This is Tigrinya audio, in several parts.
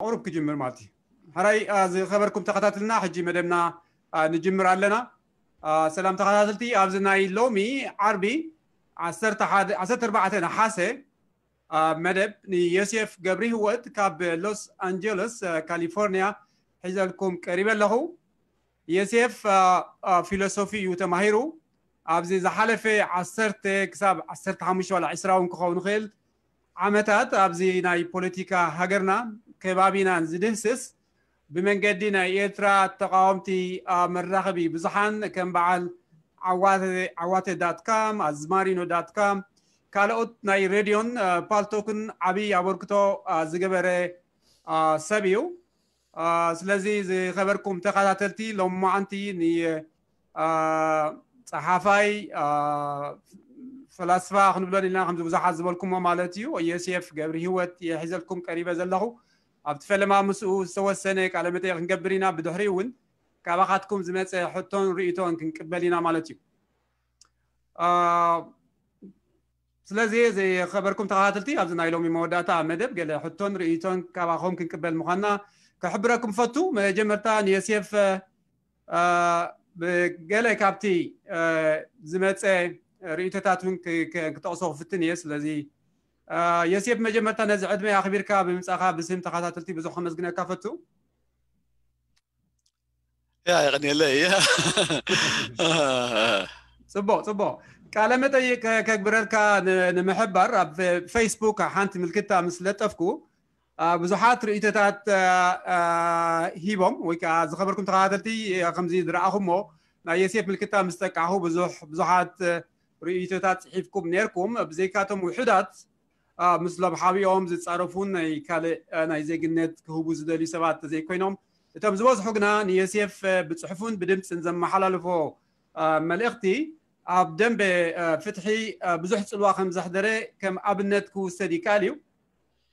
ቁሩብ ክጅምር ማለት እዩ። ሕራይ ዝኸበርኩም ተኸታትልና፣ ሕጂ መደብና ንጅምር ኣለና። ሰላም ተኸታተልቲ፣ ኣብዚ ናይ ሎሚ ዓርቢ ዓሰርተ ኣርባዕተ ነሓሰ መደብ ንዮሴፍ ገብሪ ህይወት ካብ ሎስ ኣንጀለስ ካሊፎርኒያ ሒዘልኩም ቀሪበ ኣለኹ። ዮሴፍ ፊሎሶፊ እዩ ተማሂሩ። ኣብዚ ዝሓለፈ ዓሰርተ ክሳብ ዓሰርተ ሓሙሽተ ዋላ ዕስራ እውን ክኸውን ይኽእል ዓመታት ኣብዚ ናይ ፖለቲካ ሃገርና ከባቢናን ዝድህስስ ብመንገዲ ናይ ኤርትራ ተቃወምቲ መራኸቢ ብዙሓን ከም በዓል ዓዋተ ዳት ካም፣ ኣዝማሪኖ ዳት ካም፣ ካልኦት ናይ ሬድዮን ፓልቶክን ዓብዪ ኣበርክቶ ዝገበረ ሰብ እዩ። ስለዚ ዝኸበርኩም ተኸታተልቲ፣ ሎማዓንቲ ንጸሓፋይ ፈላስፋ ክንብሎ ኢልና ከምዚ ብዙሓት ዝበልኩሞ ማለት እዩ፣ ዮሴፍ ገብሪ ህይወት የሒዘልኩም ቀሪበ ዘለኹ። ኣብቲ ፈለማ ምስኡ ዝተወሰነ ቃለ መጠይቕ ክንገብር ኢና። ብድሕሪኡ እውን ካባኻትኩም ዝመፀ ሕቶን ርእይቶን ክንቅበል ኢና ማለት እዩ። ስለዚ ዝኸበርኩም ተኸታተልቲ፣ ኣብዚ ናይ ሎሚ መወዳእታ መደብ ገለ ሕቶን ርእይቶን ካባኹም ክንቅበል ምዃንና ክሕብረኩም ፈቱ። መጀመርታ ንዮሴፍ ብገለ ካብቲ ዝመፀ ርእይቶታት እውን ክጠቕሶ ክፍትን እየ። ስለዚ ዮሴፍ፣ መጀመርታ ነዚ ዕድመ ኣኽቢርካ ብምምጻኻ ብስም ተኸታተልቲ ብዙሕ ከመስግነካ ፈቱ። ያ የቐንየለይ። ጽቡቕ ጽቡቕ። ቃለ መጠይቅ ከግብረልካ ንምሕባር ኣብ ፌስቡክ ሓንቲ ምልክታ ምስ ለጠፍኩ ብዙሓት ርእይቶታት ሂቦም፣ ወይ ከዓ ዝኸበርኩም ተኸታተልቲ ከምዚ ዝረኣኹሞ፣ ናይ ዮሴፍ ምልክታ ምስ ጠቃዕኹ ብዙሓት ርእይቶታት ጽሒፍኩም ነርኩም። ብዘይካቶም ውሑዳት ምስሎም ሓቢኦም ዝጻረፉን ናይ ካልእ ናይ ዜግነት ክህቡ ዝደልዩ ሰባት ዘይኮይኖም፣ እቶም ዝበዝሑ ግና ንዮሴፍ ብጽሑፍን ብድምፅን ዘመሓላልፎ መልእኽቲ ኣብ ደንበ ፍትሒ ብዙሕ ጽልዋ ከም ዘሕደረ ከም ኣብነት ክውሰድ ይከኣል እዩ።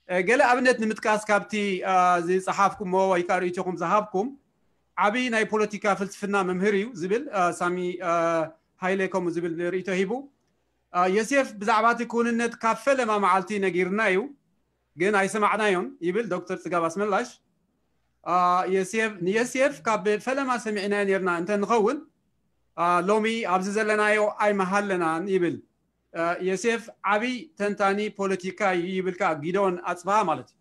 ገለ ኣብነት ንምጥቃስ፣ ካብቲ ዝጸሓፍኩሞ ወይ ከዓ ርእይቶኹም ዝሃብኩም፣ ዓብዪ ናይ ፖለቲካ ፍልስፍና መምህር እዩ ዝብል ሳሚ ሃይለ ከምኡ ዝብል ርእይቶ ሂቡ። ዮሴፍ ብዛዕባ እቲ ክውንነት ካብ ፈለማ መዓልቲ ነጊርና እዩ፣ ግን ኣይሰማዕናዮን ይብል ዶክተር ጽጋብ ኣስመላሽ። ዮሴፍ ንዮሴፍ ካብ ፈለማ ሰሚዕናዮ ነርና እንተ ንኸውን ሎሚ ኣብዚ ዘለናዮ ኣይመሃለናን ይብል። ዮሴፍ ዓብይ ተንታኒ ፖለቲካ እዩ ይብል ከዓ ጊደዎን ኣጽብሃ ማለት እዩ።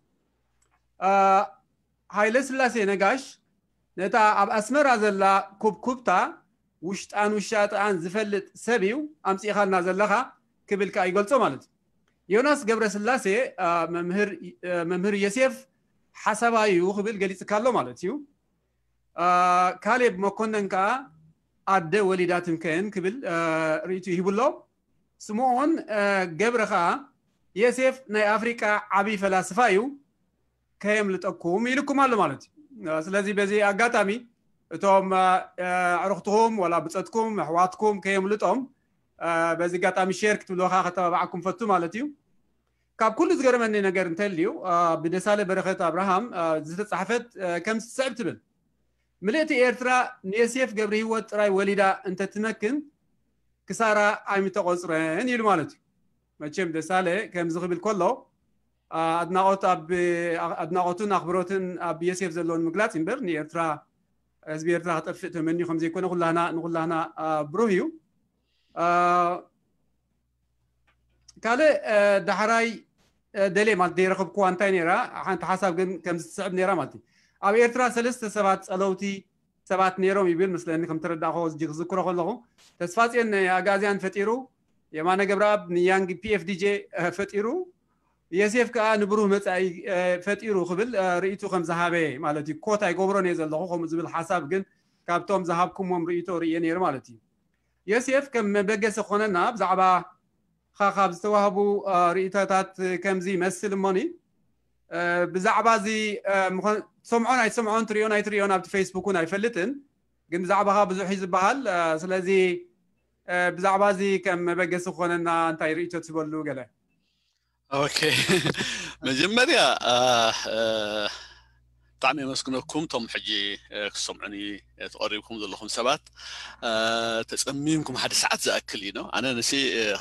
ሃይለ ስላሴ ነጋሽ ነታ ኣብ ኣስመራ ዘላ ኩብኩብታ ውሽጣን ውሻጥኣን ዝፈልጥ ሰብ እዩ ኣምጺእኻልና ዘለኻ ክብል ከዓ ይገልጾ ማለት እዩ። ዮናስ ገብረስላሴ መምህር ዮሴፍ ሓሳባይ እዩ ክብል ገሊጽካ ኣሎ ማለት እዩ። ካሌብ መኮነን ከዓ ኣደ ወሊዳ ትምከን ክብል ርእይቱ ይህብሎ። ስምኦን ገብረ ከዓ ዮሴፍ ናይ ኣፍሪቃ ዓብይ ፈላስፋ እዩ ከየምልጠኩም ኢልኩም ኣሎ ማለት እዩ። ስለዚ በዚ ኣጋጣሚ እቶም ኣዕሩኽትኹም ወላ ብፀትኩም ኣሕዋትኩም ከየምልጦም በዚ ኣጋጣሚ ሼር ክትብልዎ ከዓ ከተባብዓኩም ፈቱ ማለት እዩ። ካብ ኩሉ ዝገርመኒ ነገር እንተልዩ ብደሳለ በረኸት ኣብርሃም ዝተፃሕፈት ከም ዝስዕብ ትብል፣ ምልእቲ ኤርትራ ንዮሴፍ ገብረ ህይወት ጥራይ ወሊዳ እንተትመክን ክሳራ ኣይምተቆፅረን ኢሉ ማለት እዩ። መቸም ደሳለ ከምዚ ክብል ከሎ ኣድናቆት ኣብ ኣድናቆቱን ኣኽብሮትን ኣብ ዮሴፍ ዘለውን ምግላጽ እምበር ንኤርትራ ህዝቢ ኤርትራ ክጠፍእ ተመንዩ ከም ዘይኮነ ኩላህና ንኩላህና ብሩህ እዩ። ካልእ ዳሕራይ ደልየ ማለት ዘይረኸብኩዋ እንታይ ነይራ፣ ሓንቲ ሓሳብ ግን ከም ዝስዕብ ነይራ ማለት እዩ። ኣብ ኤርትራ ሰለስተ ሰባት ጸለውቲ ሰባት ነይሮም ይብል መስለኒ ከም ተረዳእኮ ዝዝክሮ ከለኹ። ተስፋጽዮን ኣጋዝያን ፈጢሩ፣ የማነ ገብረኣብ ንያንግ ፒኤፍዲጄ ፈጢሩ፣ የሴፍ ከዓ ንብሩህ መጻኢ ፈጢሩ ክብል ርእይቱ ከም ዝሃበ ማለት እዩ። ኮት ኣይገብሮን እየ ዘለኹ ከምኡ ዝብል ሓሳብ ግን ካብቶም ዝሃብኩሞም ርእይቶ ርእየ ነይሩ ማለት እዩ። የሴፍ ከም መበገሲ ክኾነና ብዛዕባ ካብ ዝተዋህቡ ርእይቶታት ከምዚ ይመስል እሞኒ ብዛዕባ እዚ ትሰምዖን ኣይትሰምዖን ትሪኦን ኣይትሪኦን ኣብቲ ፌስቡክ እውን ኣይፈልጥን፣ ግን ብዛዕባኻ ብዙሕ እዩ ዝበሃል። ስለዚ ብዛዕባ እዚ ከም መበገሲ ክኾነና እንታይ ርእይቶ ትበሉ ገለ? ኦኬ፣ መጀመርያ ብጣዕሚ የመስግነኩም እቶም ሕጂ ክሰምዑኒ ተቐሪብኩም ዘለኹም ሰባት። ተጸሚምኩም ሓደ ሰዓት ዝኣክል እዩ ነው። ኣነ ንሲ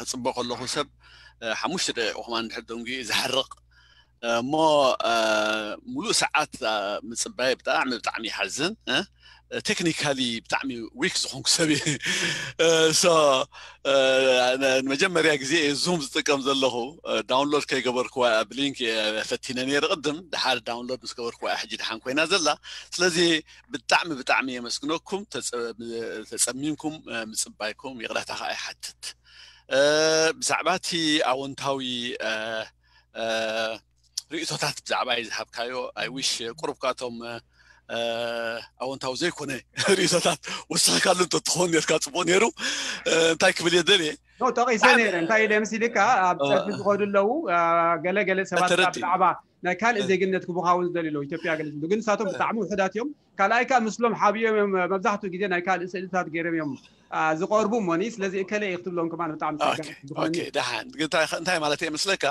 ክጽበ ከለኹ ሰብ ሓሙሽተ ደቂቕ ከማን እንድሕር ደንጉዩ ዝሓርቕ እሞ ሙሉእ ሰዓት ምፅባይ ብጣዕሚ ብጣዕሚ ይሓዝን። ቴክኒካሊ ብጣዕሚ ዊክ ዝኾንኩ ሰብ እየ። ሶ ንመጀመርያ ግዜ እየ ዙም ዝጥቀም ዘለኹ። ዳውንሎድ ከይገበርኩዋ ብሊንክ ፈቲነ ነይረ ቅድም፣ ድሓር ዳውንሎድ ምስ ገበርኩዋ ሕጂ ድሓን ኮይና ዘላ። ስለዚ ብጣዕሚ ብጣዕሚ የመስግነኩም ተፀሚምኩም ምፅባይኩም። ይቕረታ ከዓ ይሓትት። ብዛዕባ እቲ ኣወንታዊ ርእቶታት ብዛዕባ ዝሃብካዮ፣ ኣይ ዊሽ ቁሩብ ካብቶም ኣወንታዊ ዘይኮነ ርእቶታት ወስኽካሉ እንተትኸውን ነርካ ፅቡቅ ነይሩ። እንታይ ክብል እየ ደልየ፣ ጠቂሰ ነይረ። እንታይ ኢለ ምስ ኢልካ ኣብ ፀድፊ ዝኸዱ ኣለዉ ገለ ገለ ሰባት ብዛዕባ ናይ ካልእ ዜግነት ክቡኻውን ዝደልዩ ኣለዉ፣ ኢትዮጵያ ገለ ዝብሉ፣ ግን ንሳቶም ብጣዕሚ ውሕዳት እዮም። ካልኣይ ከዓ ምስሎም ሓብዮም እዮም መብዛሕትኡ ግዜ ናይ ካልእ ስእልታት ገይሮም እዮም ዝቀርቡ እሞኒ። ስለዚ እከለ እየ ክትብሎም ከማን ብጣዕሚ ደሓን። እንታይ ማለት እየ መስለካ፣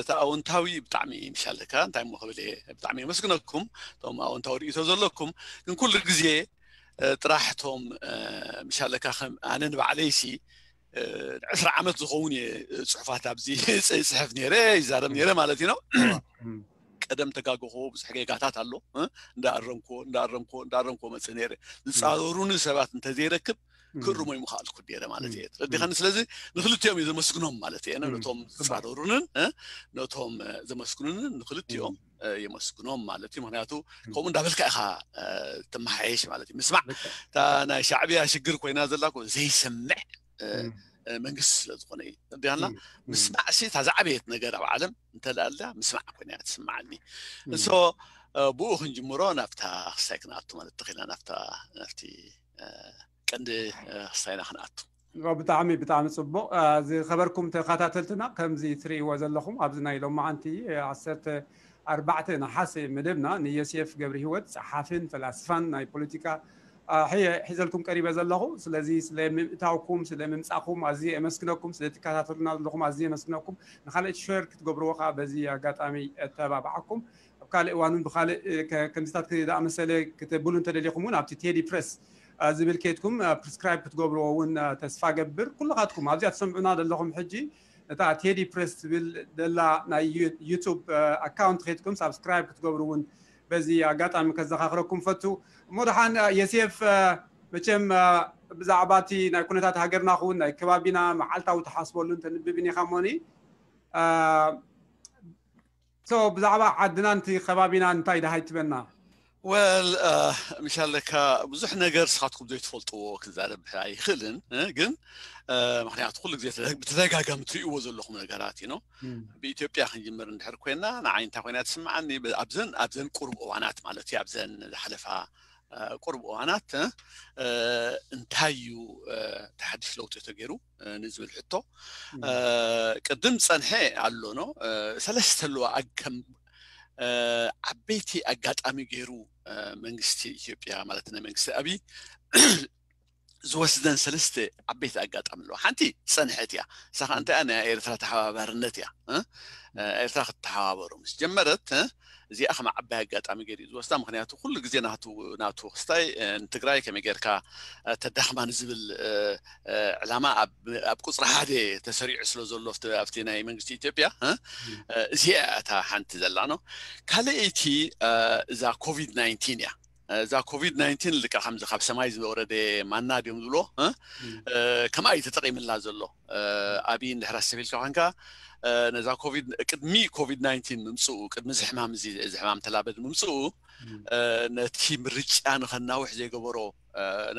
እቲ ኣወንታዊ ብጣዕሚ ምሻለካ እንታይ ሞ ክብል እየ፣ ብጣዕሚ የመስግነኩም እቶም ኣወንታዊ ርእቶ ዘለኩም። ግን ኩሉ ግዜ ጥራሕ እቶም ምሻለካ ከም ኣነ ንባዕለይሲ ዕስራ ዓመት ዝኸውን እየ ፅሑፋት ኣብዚ ፅሕፍ ነይረ፣ ይዛረብ ነይረ ማለት እዩ ነው። ቀደም ተጋገኹ፣ ብዙሕ ጌጋታት ኣሎ። እንዳኣረምኮ እንዳኣረምኮ እንዳኣረምኮ መፅእ ነይረ። ዝፃረሩኒ ሰባት እንተዘይረክብ ክእርሞ ይምኽኣልኩ ነይረ ማለት እየ። ተረዲኻኒ? ስለዚ ንክልቲኦም እዩ ዘመስግኖም ማለት እየ። ነቶም ዝፃረሩንን ነቶም ዘመስግኑንን ንክልቲኦም የመስግኖም ማለት እዩ። ምክንያቱ ከምኡ እንዳበልካ ኢኻ ትመሓየሽ ማለት እዩ። ምስማዕ እታ ናይ ሻዕብያ ሽግር ኮይና ዘላ ዘይሰምዕ መንግስቲ ስለ ዝኾነ እዩ። ዲና ምስማዕ ሲ እታ ዝዓበየት ነገር ኣብ ዓለም እንተላልያ ምስማዕ ኮይና እያ ትስምዓኒ። እንሶ ብኡ ክንጅምሮ ናብታ ክስታይ ክንኣቱ ማለት ተኽኢልና ናብታ ናብቲ ቀንዲ ክስታይና ክንኣቱ። ብጣዕሚ ብጣዕሚ ፅቡቅ። ዝኸበርኩም ተኸታተልትና ከምዚ ትርእይዎ ዘለኹም ኣብዚ ናይ ሎማዓንቲ ዓሰርተ ኣርባዕተ ነሓሰ መደብና ንዮሴፍ ገብረ ህይወት ጸሓፍን ፈላስፋን ናይ ፖለቲካ ሒዘልኩም ቀሪበ ዘለኹ። ስለዚ ስለ ምእታውኩም ስለ ምምጻኹም ኣዝየ የመስግነኩም። ስለ ትከታተሉና ዘለኹም ኣዝየ የመስግነኩም። ንኻልእ ሸር ክትገብርዎ ከዓ በዚ ኣጋጣሚ እተባብዓኩም። ኣብ ካልእ እዋን እውን ብኻልእ ከምዚታት ዝኣመሰለ ክትብሉ እንተደሊኹም እውን ኣብቲ ቴዲ ፕረስ ዝብል ኬድኩም ፕሪስክራይብ ክትገብርዎ እውን ተስፋ ገብር። ኩልኻትኩም ኣብዚኣ ትሰምዑና ዘለኹም ሕጂ እታ ቴዲ ፕረስ ትብል ደላ ናይ ዩቱብ ኣካውንት ኬድኩም ሳብስክራይብ ክትገብሩ እውን በዚ ኣጋጣሚ ከዘኻኽረኩም ፈቱ። እሞ ደሓን የሴፍ መቸም ብዛዕባ እቲ ናይ ኩነታት ሃገርና ክውን ናይ ከባቢና መዓልታዊ ትሓስበሉ እንተንብብን ኢኻ ሞኒ ብዛዕባ ዓድና ንቲ ከባቢና እንታይ ደሃይ ትበና? ወል ምሻለካ ብዙሕ ነገር ስኻትኩም ዘይትፈልጥዎ ክዛረብ ኣይኽእልን፣ ግን ምክንያቱ ኩሉ ግዜ ብተደጋጋሚ ትርእይዎ ዘለኹም ነገራት እዩ። ብኢትዮጵያ ክንጅምር እንድሕር ኮይና ንዓይ እንታይ ኮይና ትስምዓኒ ኣብዘን ኣብዘን ቁሩብ እዋናት ማለት እዩ ኣብዘን ዝሓለፋ ቁሩብ እዋናት እንታይ እዩ ተሓድሽ ለውጢ ተገይሩ ንዝብል ሕቶ ቅድም ጸንሐ ኣሎ ነው ሰለስተ ኣለዋ ከም ዓበይቲ ኣጋጣሚ ገይሩ መንግስቲ ኢትዮጵያ ማለት ናይ መንግስቲ ኣብይ ዝወስደን ሰለስተ ዓበይቲ ኣጋጣሚ ኣለዋ። ሓንቲ ዝጸንሐት እያ። እሳ ከዓ እንታይ እያ? ናይ ኤርትራ ተሓባባርነት እያ። ኤርትራ ክትተሓባበሩ ምስ ጀመረት እዚኣ ከም ዓባይ ኣጋጣሚ ገይሩ ዝወስዳ። ምክንያቱ ኩሉ ግዜ ናቱ ክስታይ ንትግራይ ከመይ ጌርካ ተዳኽማ ንዝብል ዕላማ ኣብ ቁፅሪ ሓደ ተሰሪዑ ስለ ዘሎ ኣብቲ ናይ መንግስቲ ኢትዮጵያ እዚኣ እታ ሓንቲ ዘላ ነው። ካልኣይቲ እዛ ኮቪድ ናይንቲን እያ። እዛ ኮቪድ ናይንቲን ልካ ከምዚ ካብ ሰማይ ዝወረደ ማና ድዮም ዝብሎ ከምኣ እዩ ተጠቂምላ ዘሎ። ኣብይ እንድሕር ኣሰብ ኢልካ ኮንካ ነዛ ኮቪድ ቅድሚ ኮቪድ ናይንቲን ምምፅኡ ቅድሚ እዚ ሕማም እዚ እዚ ሕማም ተላበድ ምምፅኡ ነቲ ምርጫ ንኸናውሕ ዘይገበሮ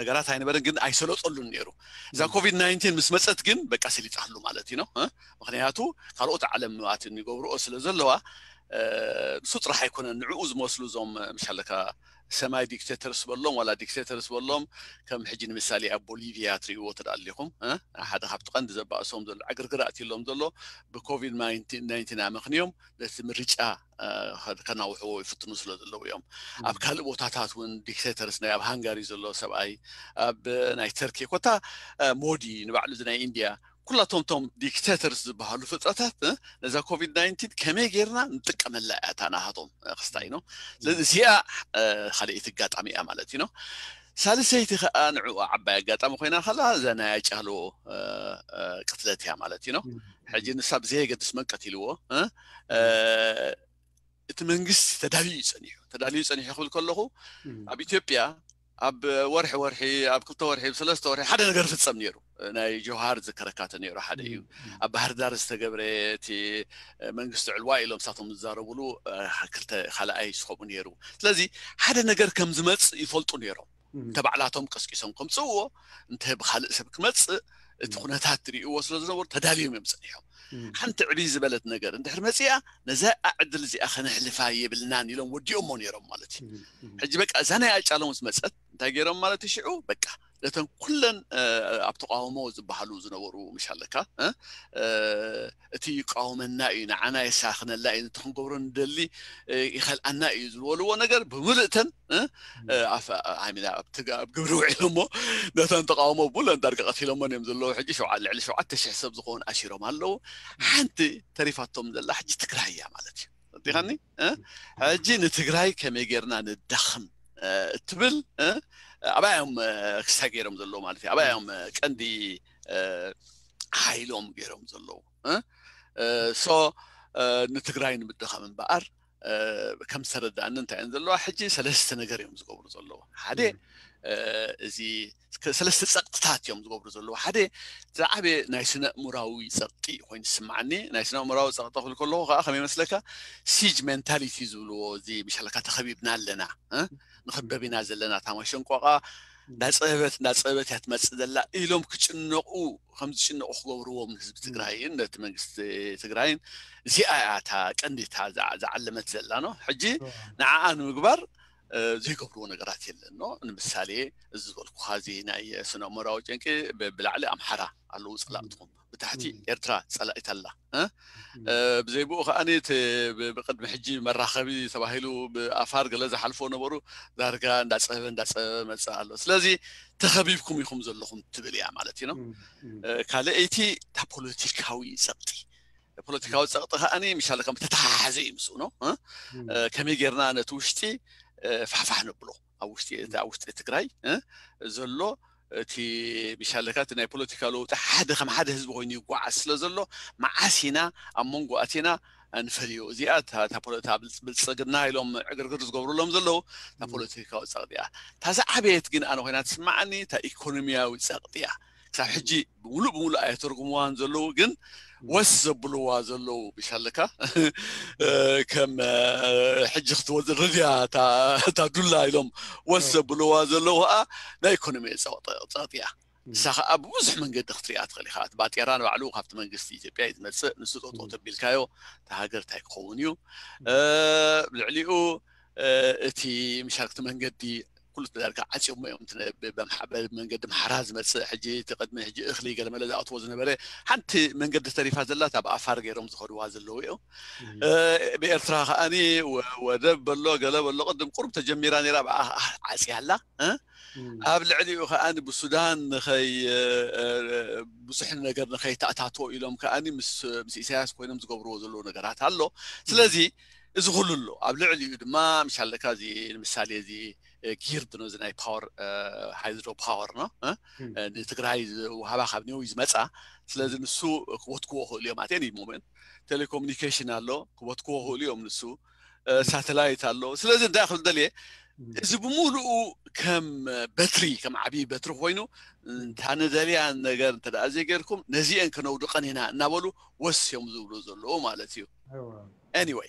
ነገራት ኣይነበረን፣ ግን ኣይሰለጠሉን ነይሩ። እዛ ኮቪድ ናይንቲን ምስ መፀት ግን በቃ ሰሊጣሉ ማለት እዩ ነው። ምክንያቱ ካልኦት ዓለም ኣትን ይገብርኦ ስለ ዘለዋ ንሱ ጥራሕ ኣይኮነን። ንዕኡ ዝመስሉ እዞም ምሻለካ ሰማይ ዲክቴተርስ በሎም ዋላ ዲክቴተርስ በሎም ከም ሕጂ ንምሳሌ ኣብ ቦሊቪያ ትርእይዎ ተዳሊኹም ሓደ ካብቲ ቀንዲ ዘባእሶም ዘሎ ዕግርግር ኣትሎም ዘሎ ብኮቪድ ናይንቲን ኣመክንዮም ነቲ ምርጫ ከናውሕዎ ይፍትኑ ስለ ዘለዉ እዮም። ኣብ ካልእ ቦታታት እውን ዲክቴተርስ ናይ ኣብ ሃንጋሪ ዘሎ ሰብኣይ ኣብ ናይ ተርኪ ኮታ ሞዲ ንባዕሉ ናይ ኢንድያ ኩላቶም ቶም ዲክቴተርስ ዝበሃሉ ፍጥረታት ነዛ ኮቪድ ናይንቲን ከመይ ጌርና ንጥቀመላ እያ እታ ናሃቶም ክስታይ ነው። ስለዚ እዚኣ ካልኣይቲ ኣጋጣሚ እያ ማለት እዩ ነው። ሳልሰይቲ ከዓ ንዕኡ ዓባይ ኣጋጣሚ ኮይና ከላ እዛ ናይ ኣጫሎ ቅትለት እያ ማለት እዩ። ሕጂ ንሳ ብዘየገድስ መን ቀቲልዎ እቲ መንግስቲ ተዳልዩ እዩ ጸኒሑ። ተዳልዩ ጸኒሑ ክብል ከለኹ ኣብ ኢትዮጵያ ኣብ ወርሒ ወርሒ ኣብ ክልተ ወርሒ ኣብ ሰለስተ ወርሒ ሓደ ነገር ፍጸም ነይሩ። ናይ ጆሃር ዝከረካተ ነይሩ ሓደ እዩ። ኣብ ባህር ዳር ዝተገብረ እቲ መንግስቲ ዕልዋ ኢሎም ሳቶም ዝዛረቡሉ ክልተ ካልኣይ ስኸቡ ነይሩ። ስለዚ ሓደ ነገር ከም ዝመጽእ ይፈልጡ ነይሮም። እንተ ባዕላቶም ቀስቂሶም ከምጽእዎ እንተ ብካልእ ሰብ ክመጽእ እቲ ኩነታት ትርእይዎ ስለ ዝነበሩ ተዳልዮም እዮም ጸኒሖም። ሓንቲ ዕብይ ዝበለት ነገር እንድሕር መጺኣ ነዛ ዕድል እዚኣ ከነሕልፋ የብልናን ኢሎም ወዲኦሞ ነይሮም ማለት እዩ። ሕጂ በቃ እዛ ናይ ኣጫሎም ምስ መጸት እንታይ ገይሮም ማለት እዩ? ሽዑ በቃ ነተን ኩለን ኣብ ተቃውሞ ዝበሃሉ ዝነበሩ ምሻለካ እቲ ይቃወመና እዩ፣ ንዓና የሳኽነላ እዩ፣ ነቲ ክንገብሮ ንደሊ ይኸልኣና እዩ ዝበልዎ ነገር ብምልእተን ኣብ ግብሪ ውዒሎሞ ነተን ተቃውሞ ብለን ዳርጋ ቀቲሎሞን እዮም ዘለዉ። ሕጂ ልዕሊ ሸውዓተ ሽሕ ሰብ ዝኸውን ኣሲሮም ኣለዉ። ሓንቲ ተሪፋቶም ዘላ ሕጂ ትግራይ እያ ማለት እዩ። ዲኻኒ ሕጂ ንትግራይ ከመይ ጌርና ንዳኽም እትብል ኣብኣ እዮም ክሳይ ገይሮም ዘለዉ ማለት እዩ። ኣብኣ እዮም ቀንዲ ሓይሎም ገይሮም ዘለዉ። ሶ ንትግራይ ንምድኻም እምበኣር ከም ዝተረዳእኒ እንታይ እየን ዘለዋ ሕጂ ሰለስተ ነገር እዮም ዝገብሩ ዘለዉ። ሓደ እዚ ሰለስተ ጸቕጥታት እዮም ዝገብሩ ዘለዉ። ሓደ ዝዓበየ ናይ ስነ እሙራዊ ጸቕጢ ኮይኑ ዝስማዓኒ። ናይ ስነ እሙራዊ ጸቕጢ ክብል ከለኹ ከዓ ከመይ መስለካ ሲጅ ሜንታሊቲ ዝብልዎ እዚ ምሻለካ ተኸቢብና ኣለና ንኽበብ ኢና ዘለና ታማሸንቆቃ እንዳፀበበት እንዳፀበበት እያ ትመፅእ ዘላ ኢሎም ክጭነቁ ከም ዝጭነቁ ክገብርዎም ንህዝቢ ትግራይን ነቲ መንግስቲ ትግራይን እዚኣ እያ እታ ቀንዲ እታ ዝዓለመት ዘላ ነው። ሕጂ ንዓኣ ንምግባር ዘይገብርዎ ነገራት የለን ነው። ንምሳሌ እዚ ዝበልኩኻ እዚ ናይ ስነ ኣእምራዊ ጨንቂ ብላዕሊ ኣምሓራ ኣለዉ ፀላእትኹም ብታሕቲ ኤርትራ ፀላኢት ኣላ። ብዘይ ብኡ ከዓኒ ብቅድሚ ሕጂ መራኸቢ ተባሂሉ ብኣፋር ገለ ዝሓልፎ ነበሩ ዳርጋ እንዳፀበበ እንዳፀበበ መፅእ ኣሎ። ስለዚ ተኸቢብኩም ኢኹም ዘለኹም ትብል እያ ማለት እዩ። ካልኣይቲ እታ ፖለቲካዊ ፀቕጢ ፖለቲካዊ ፀቕጢ ከዓኒ ምሻለ ከም ተተሓሓዘ እዩ ምስኡ ነው። ከመይ ጌርና ነቲ ውሽጢ ፋሕፋሕ ነብሎ ኣብ ውሽጢ ኣብ ውሽጢ ትግራይ ዘሎ እቲ ምሻለካ እቲ ናይ ፖለቲካ ለውጢ ሓደ ከም ሓደ ህዝቢ ኮይኑ ይጓዓዝ ስለ ዘሎ መዓስ ኢና ኣብ መንጎ ኣቲና ንፈልዮ። እዚኣ ብልፅግና ኢሎም ዕግርግር ዝገብሩሎም ዘለዉ እታ ፖለቲካዊ ፀቕጢ እያ። እታ ዝዓበየት ግን ኣነ ኮይና ትስማዓኒ እታ ኢኮኖሚያዊ ፀቕጢ እያ። ክሳብ ሕጂ ብሙሉእ ብሙሉእ ኣየተርጉምዋን ዘለዉ ግን ወስ ዘብልዋ ዘለዉ ምሻለካ ከም ሕጂ ክትወዝእ ረድያ እታ ዱላ ኢሎም ወስ ዘብልዋ ዘለዉ ከዓ ናይ ኢኮኖሚ ፀቕጢ እያ። ንሳ ከዓ ብብዙሕ መንገዲ ክትሪኣ ትኽእል ኢኻ። እቲ ባጤራ ንባዕሉ ካብቲ መንግስቲ ኢትዮጵያ እዩ ዝመፅእ። ንሱ ጠጠው ተቢልካዮ እቲ ሃገር እንታይ ክኸውን እዩ? ልዕሊኡ እቲ ምሻልክቲ መንገዲ ኩሉ ተዳርካ ዓፂዮሞ እዮም። መንገዲ ምሓራ ዝመፅእ ሕጂ እቲ ቅድሚ ሕጂ እኽሊ ገለመለ ዝኣትዎ ዝነበረ ሓንቲ መንገዲ ተሪፋ ዘላ እታ ብኣፋር ገይሮም ዝኸድዋ ዘለዉ እዮም። ብኤርትራ ከዓኒ ወደብ በሎ ገለ በሎ ቅድም ቁሩብ ተጀሚራ ነይራ ብኣ ዓፅያ ኣላ። ኣብ ልዕሊኡ ከዓኒ ብሱዳን ንኸይ ብዙሕ ነገር ንኸይተኣታቶ ኢሎም ከዓኒ ምስ ምስ ኢሳያስ ኮይኖም ዝገብርዎ ዘለዉ ነገራት ኣሎ። ስለዚ እዚ ኩሉ ኣሎ ኣብ ልዕሊኡ ድማ ምሻለካ እዚ ንምሳሌ እዚ ጊርድ ነው እዚ ናይ ፓወር ሃይድሮ ፓወር ነው ንትግራይ ዝውሃባ ካብ ኒው ዝመፃ። ስለዚ ንሱ ክወትክዎ ክእሉ እዮም ኣቴኒ ሞመንት ቴሌኮሙኒኬሽን ኣሎ ክወትክዎ ክእሉ እዮም ንሱ ሳተላይት ኣሎ። ስለዚ እንታይ ክብል ደልየ እዚ ብምሉኡ ከም በትሪ ከም ዓብዪ በትሪ ኮይኑ እንታ ንደልያ ነገር እንተ ዘይገርኩም ነዚአን ከነውድቀን ኢና እናበሉ ወስ እዮም ዝብሉ ዘለዉ ማለት እዩ። Anyway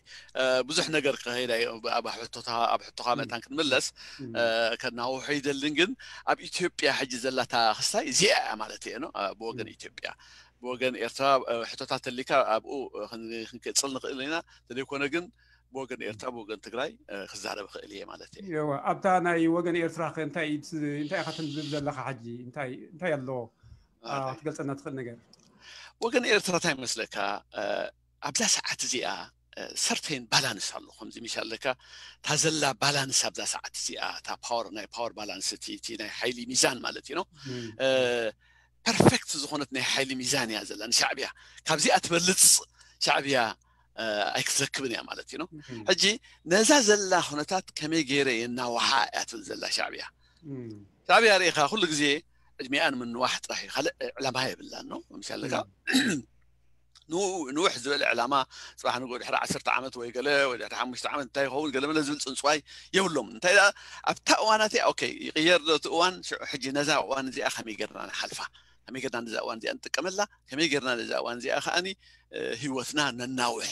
ብዙሕ ነገር ክኸይድ ኣብ ሕቶኻ መታን ክንምለስ ከናውሑ ይደልን ግን ኣብ ኢትዮጵያ ሕጂ ዘላታ ክስታይ እዚኣ እያ ማለት እየ ነው ብወገን ኢትዮጵያ ብወገን ኤርትራ ሕቶታት ተሊካ ኣብኡ ክንቅፅል ንኽእል ኢና። ተዘይኮነ ግን ብወገን ኤርትራ ብወገን ትግራይ ክዛረብ ክእል እየ ማለት እየ። ኣብታ ናይ ወገን ኤርትራ እንታይ እንታይ ኢኻ ትንብብ ዘለኻ ሕጂ እንታይ ኣለዎ ክትገልፀና ትኽእል ነገር? ወገን ኤርትራ እንታይ መስለካ ኣብዛ ሰዓት እዚኣ ሰርተይን ባላንስ ኣሎ ከምዚ ሚሻ ኣለካ እታ ዘላ ባላንስ ኣብዛ ሰዓት እዚኣ እታ ፓወር ናይ ፓወር ባላንስ እቲ ናይ ሓይሊ ሚዛን ማለት እዩ ነው ፐርፌክት ዝኾነት ናይ ሓይሊ ሚዛን እያ ዘላ ንሻዕብያ ካብዚኣ ትበልፅ ሻዕብያ ኣይክትረክብን እያ ማለት እዩ ነው። ሕጂ ነዛ ዘላ ኩነታት ከመይ ገይረ የናውሓ እያ ትብል ዘላ ሻዕብያ ሻዕብያ ርኢኻ ኩሉ ግዜ ዕድሚኣ ንምንዋሕ ጥራሕ እዩ፣ ካልእ ዕላማ የብላን ነው። ምሳሌ ንውሕ ዝበለ ዕላማ፣ ፅባሕ ንግሆ ድሕሪ ዓሰርተ ዓመት ወይ ገለ ወይ ድሕሪ ሓሙሽተ ዓመት እንታይ ይኸውን ገለ መለ ዝብል ፅንፅዋይ የብሎም። እንታይ ኣብታ እዋናት እያ ኦኬ ይቕየር ዶ እቲ እዋን፣ ሽዑ ሕጂ ነዛ እዋን እዚኣ ከመይ ጌርና ንሓልፋ፣ ከመይ ጌርና ነዛ እዋን እዚኣ ንጥቀመላ፣ ከመይ ጌርና ነዛ እዋን እዚኣ ከዓኒ ህይወትና ነናውሕ፣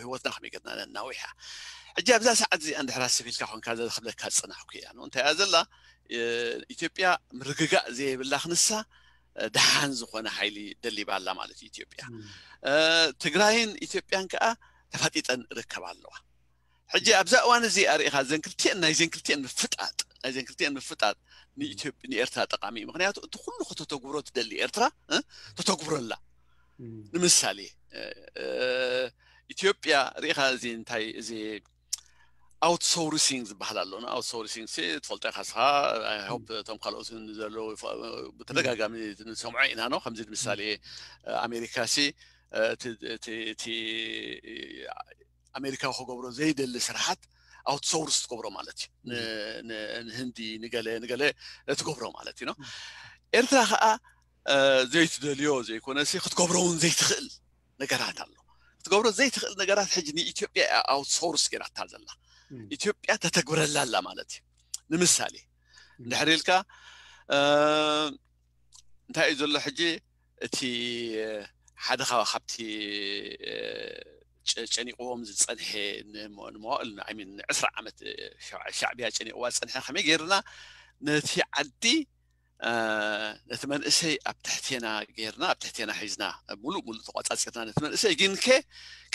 ህይወትና ከመይ ጌርና ነናውሕ እያ። ሕጂ ኣብዛ ሰዓት እዚኣ እንድሕር ኣስብ ኢልካ ኮንካ ዘኽብለካ ዝፅናሕኩ እያ ነው እንታይ እያ ዘላ። ኢትዮጵያ ምርግጋእ ዘይብላ ክንሳ ደሓን ዝኾነ ሓይሊ ደሊባ ኣላ ማለት እዩ ኢትዮጵያ። ትግራይን ኢትዮጵያን ከዓ ተፋጢጠን ርከባ ኣለዋ። ሕጂ ኣብዛ እዋን እዚ ኣርኢኻ ዘን ክልቲኤን ናይ ዘን ክልቲኤን ምፍጣጥ ናይ ዘን ክልቲኤን ምፍጣጥ ንኤርትራ ጠቃሚ እዩ። ምክንያቱ እቲ ኩሉ ከተተግብሮ ትደሊ ኤርትራ ተተግብሮ ኣላ። ንምሳሌ ኢትዮጵያ ርኢኻ እዚ እንታይ እዚ ኣውትሶርሲንግ ዝበሃል ኣሎ። ኣውትሶርሲንግ ትፈልጦ ኢኻ ስኻ። ሆፕ እቶም ካልኦት ዘለዉ ብተደጋጋሚ ንሰምዖ ኢና ነው። ከምዚ ንምሳሌ ኣሜሪካ ሲ እቲ ኣሜሪካዊ ክገብሮ ዘይደሊ ስራሓት ኣውትሶርስ ትገብሮ ማለት እዩ። ንህንዲ ንገለ ንገለ ትገብሮ ማለት እዩ ነው። ኤርትራ ከዓ ዘይትደልዮ ዘይኮነ ክትገብሮ እውን ዘይትኽእል ነገራት ኣሎ። ክትገብሮ ዘይትኽእል ነገራት ሕጂ ንኢትዮጵያ ኣውትሶርስ ጌራታ ዘላ ኢትዮጵያ ተተግብረላ ኣላ ማለት እዩ። ንምሳሌ እንድሕር ኢልካ እንታይ እዩ ዘሎ ሕጂ እቲ ሓደ ካብቲ ጨኒቕዎም ዝፀንሐ ንመዋእል ሚን ዕስራ ዓመት ሻዕብያ ጨኒቕዋ ዝፀንሐ ከመይ ገይርና ነቲ ዓዲ ነቲ መንእሰይ ኣብ ትሕቴና ጌርና ኣብ ትሕቴና ሒዝና ሙሉእ ሙሉእ ተቋፃፂርና ነቲ መንእሰይ ግን ከ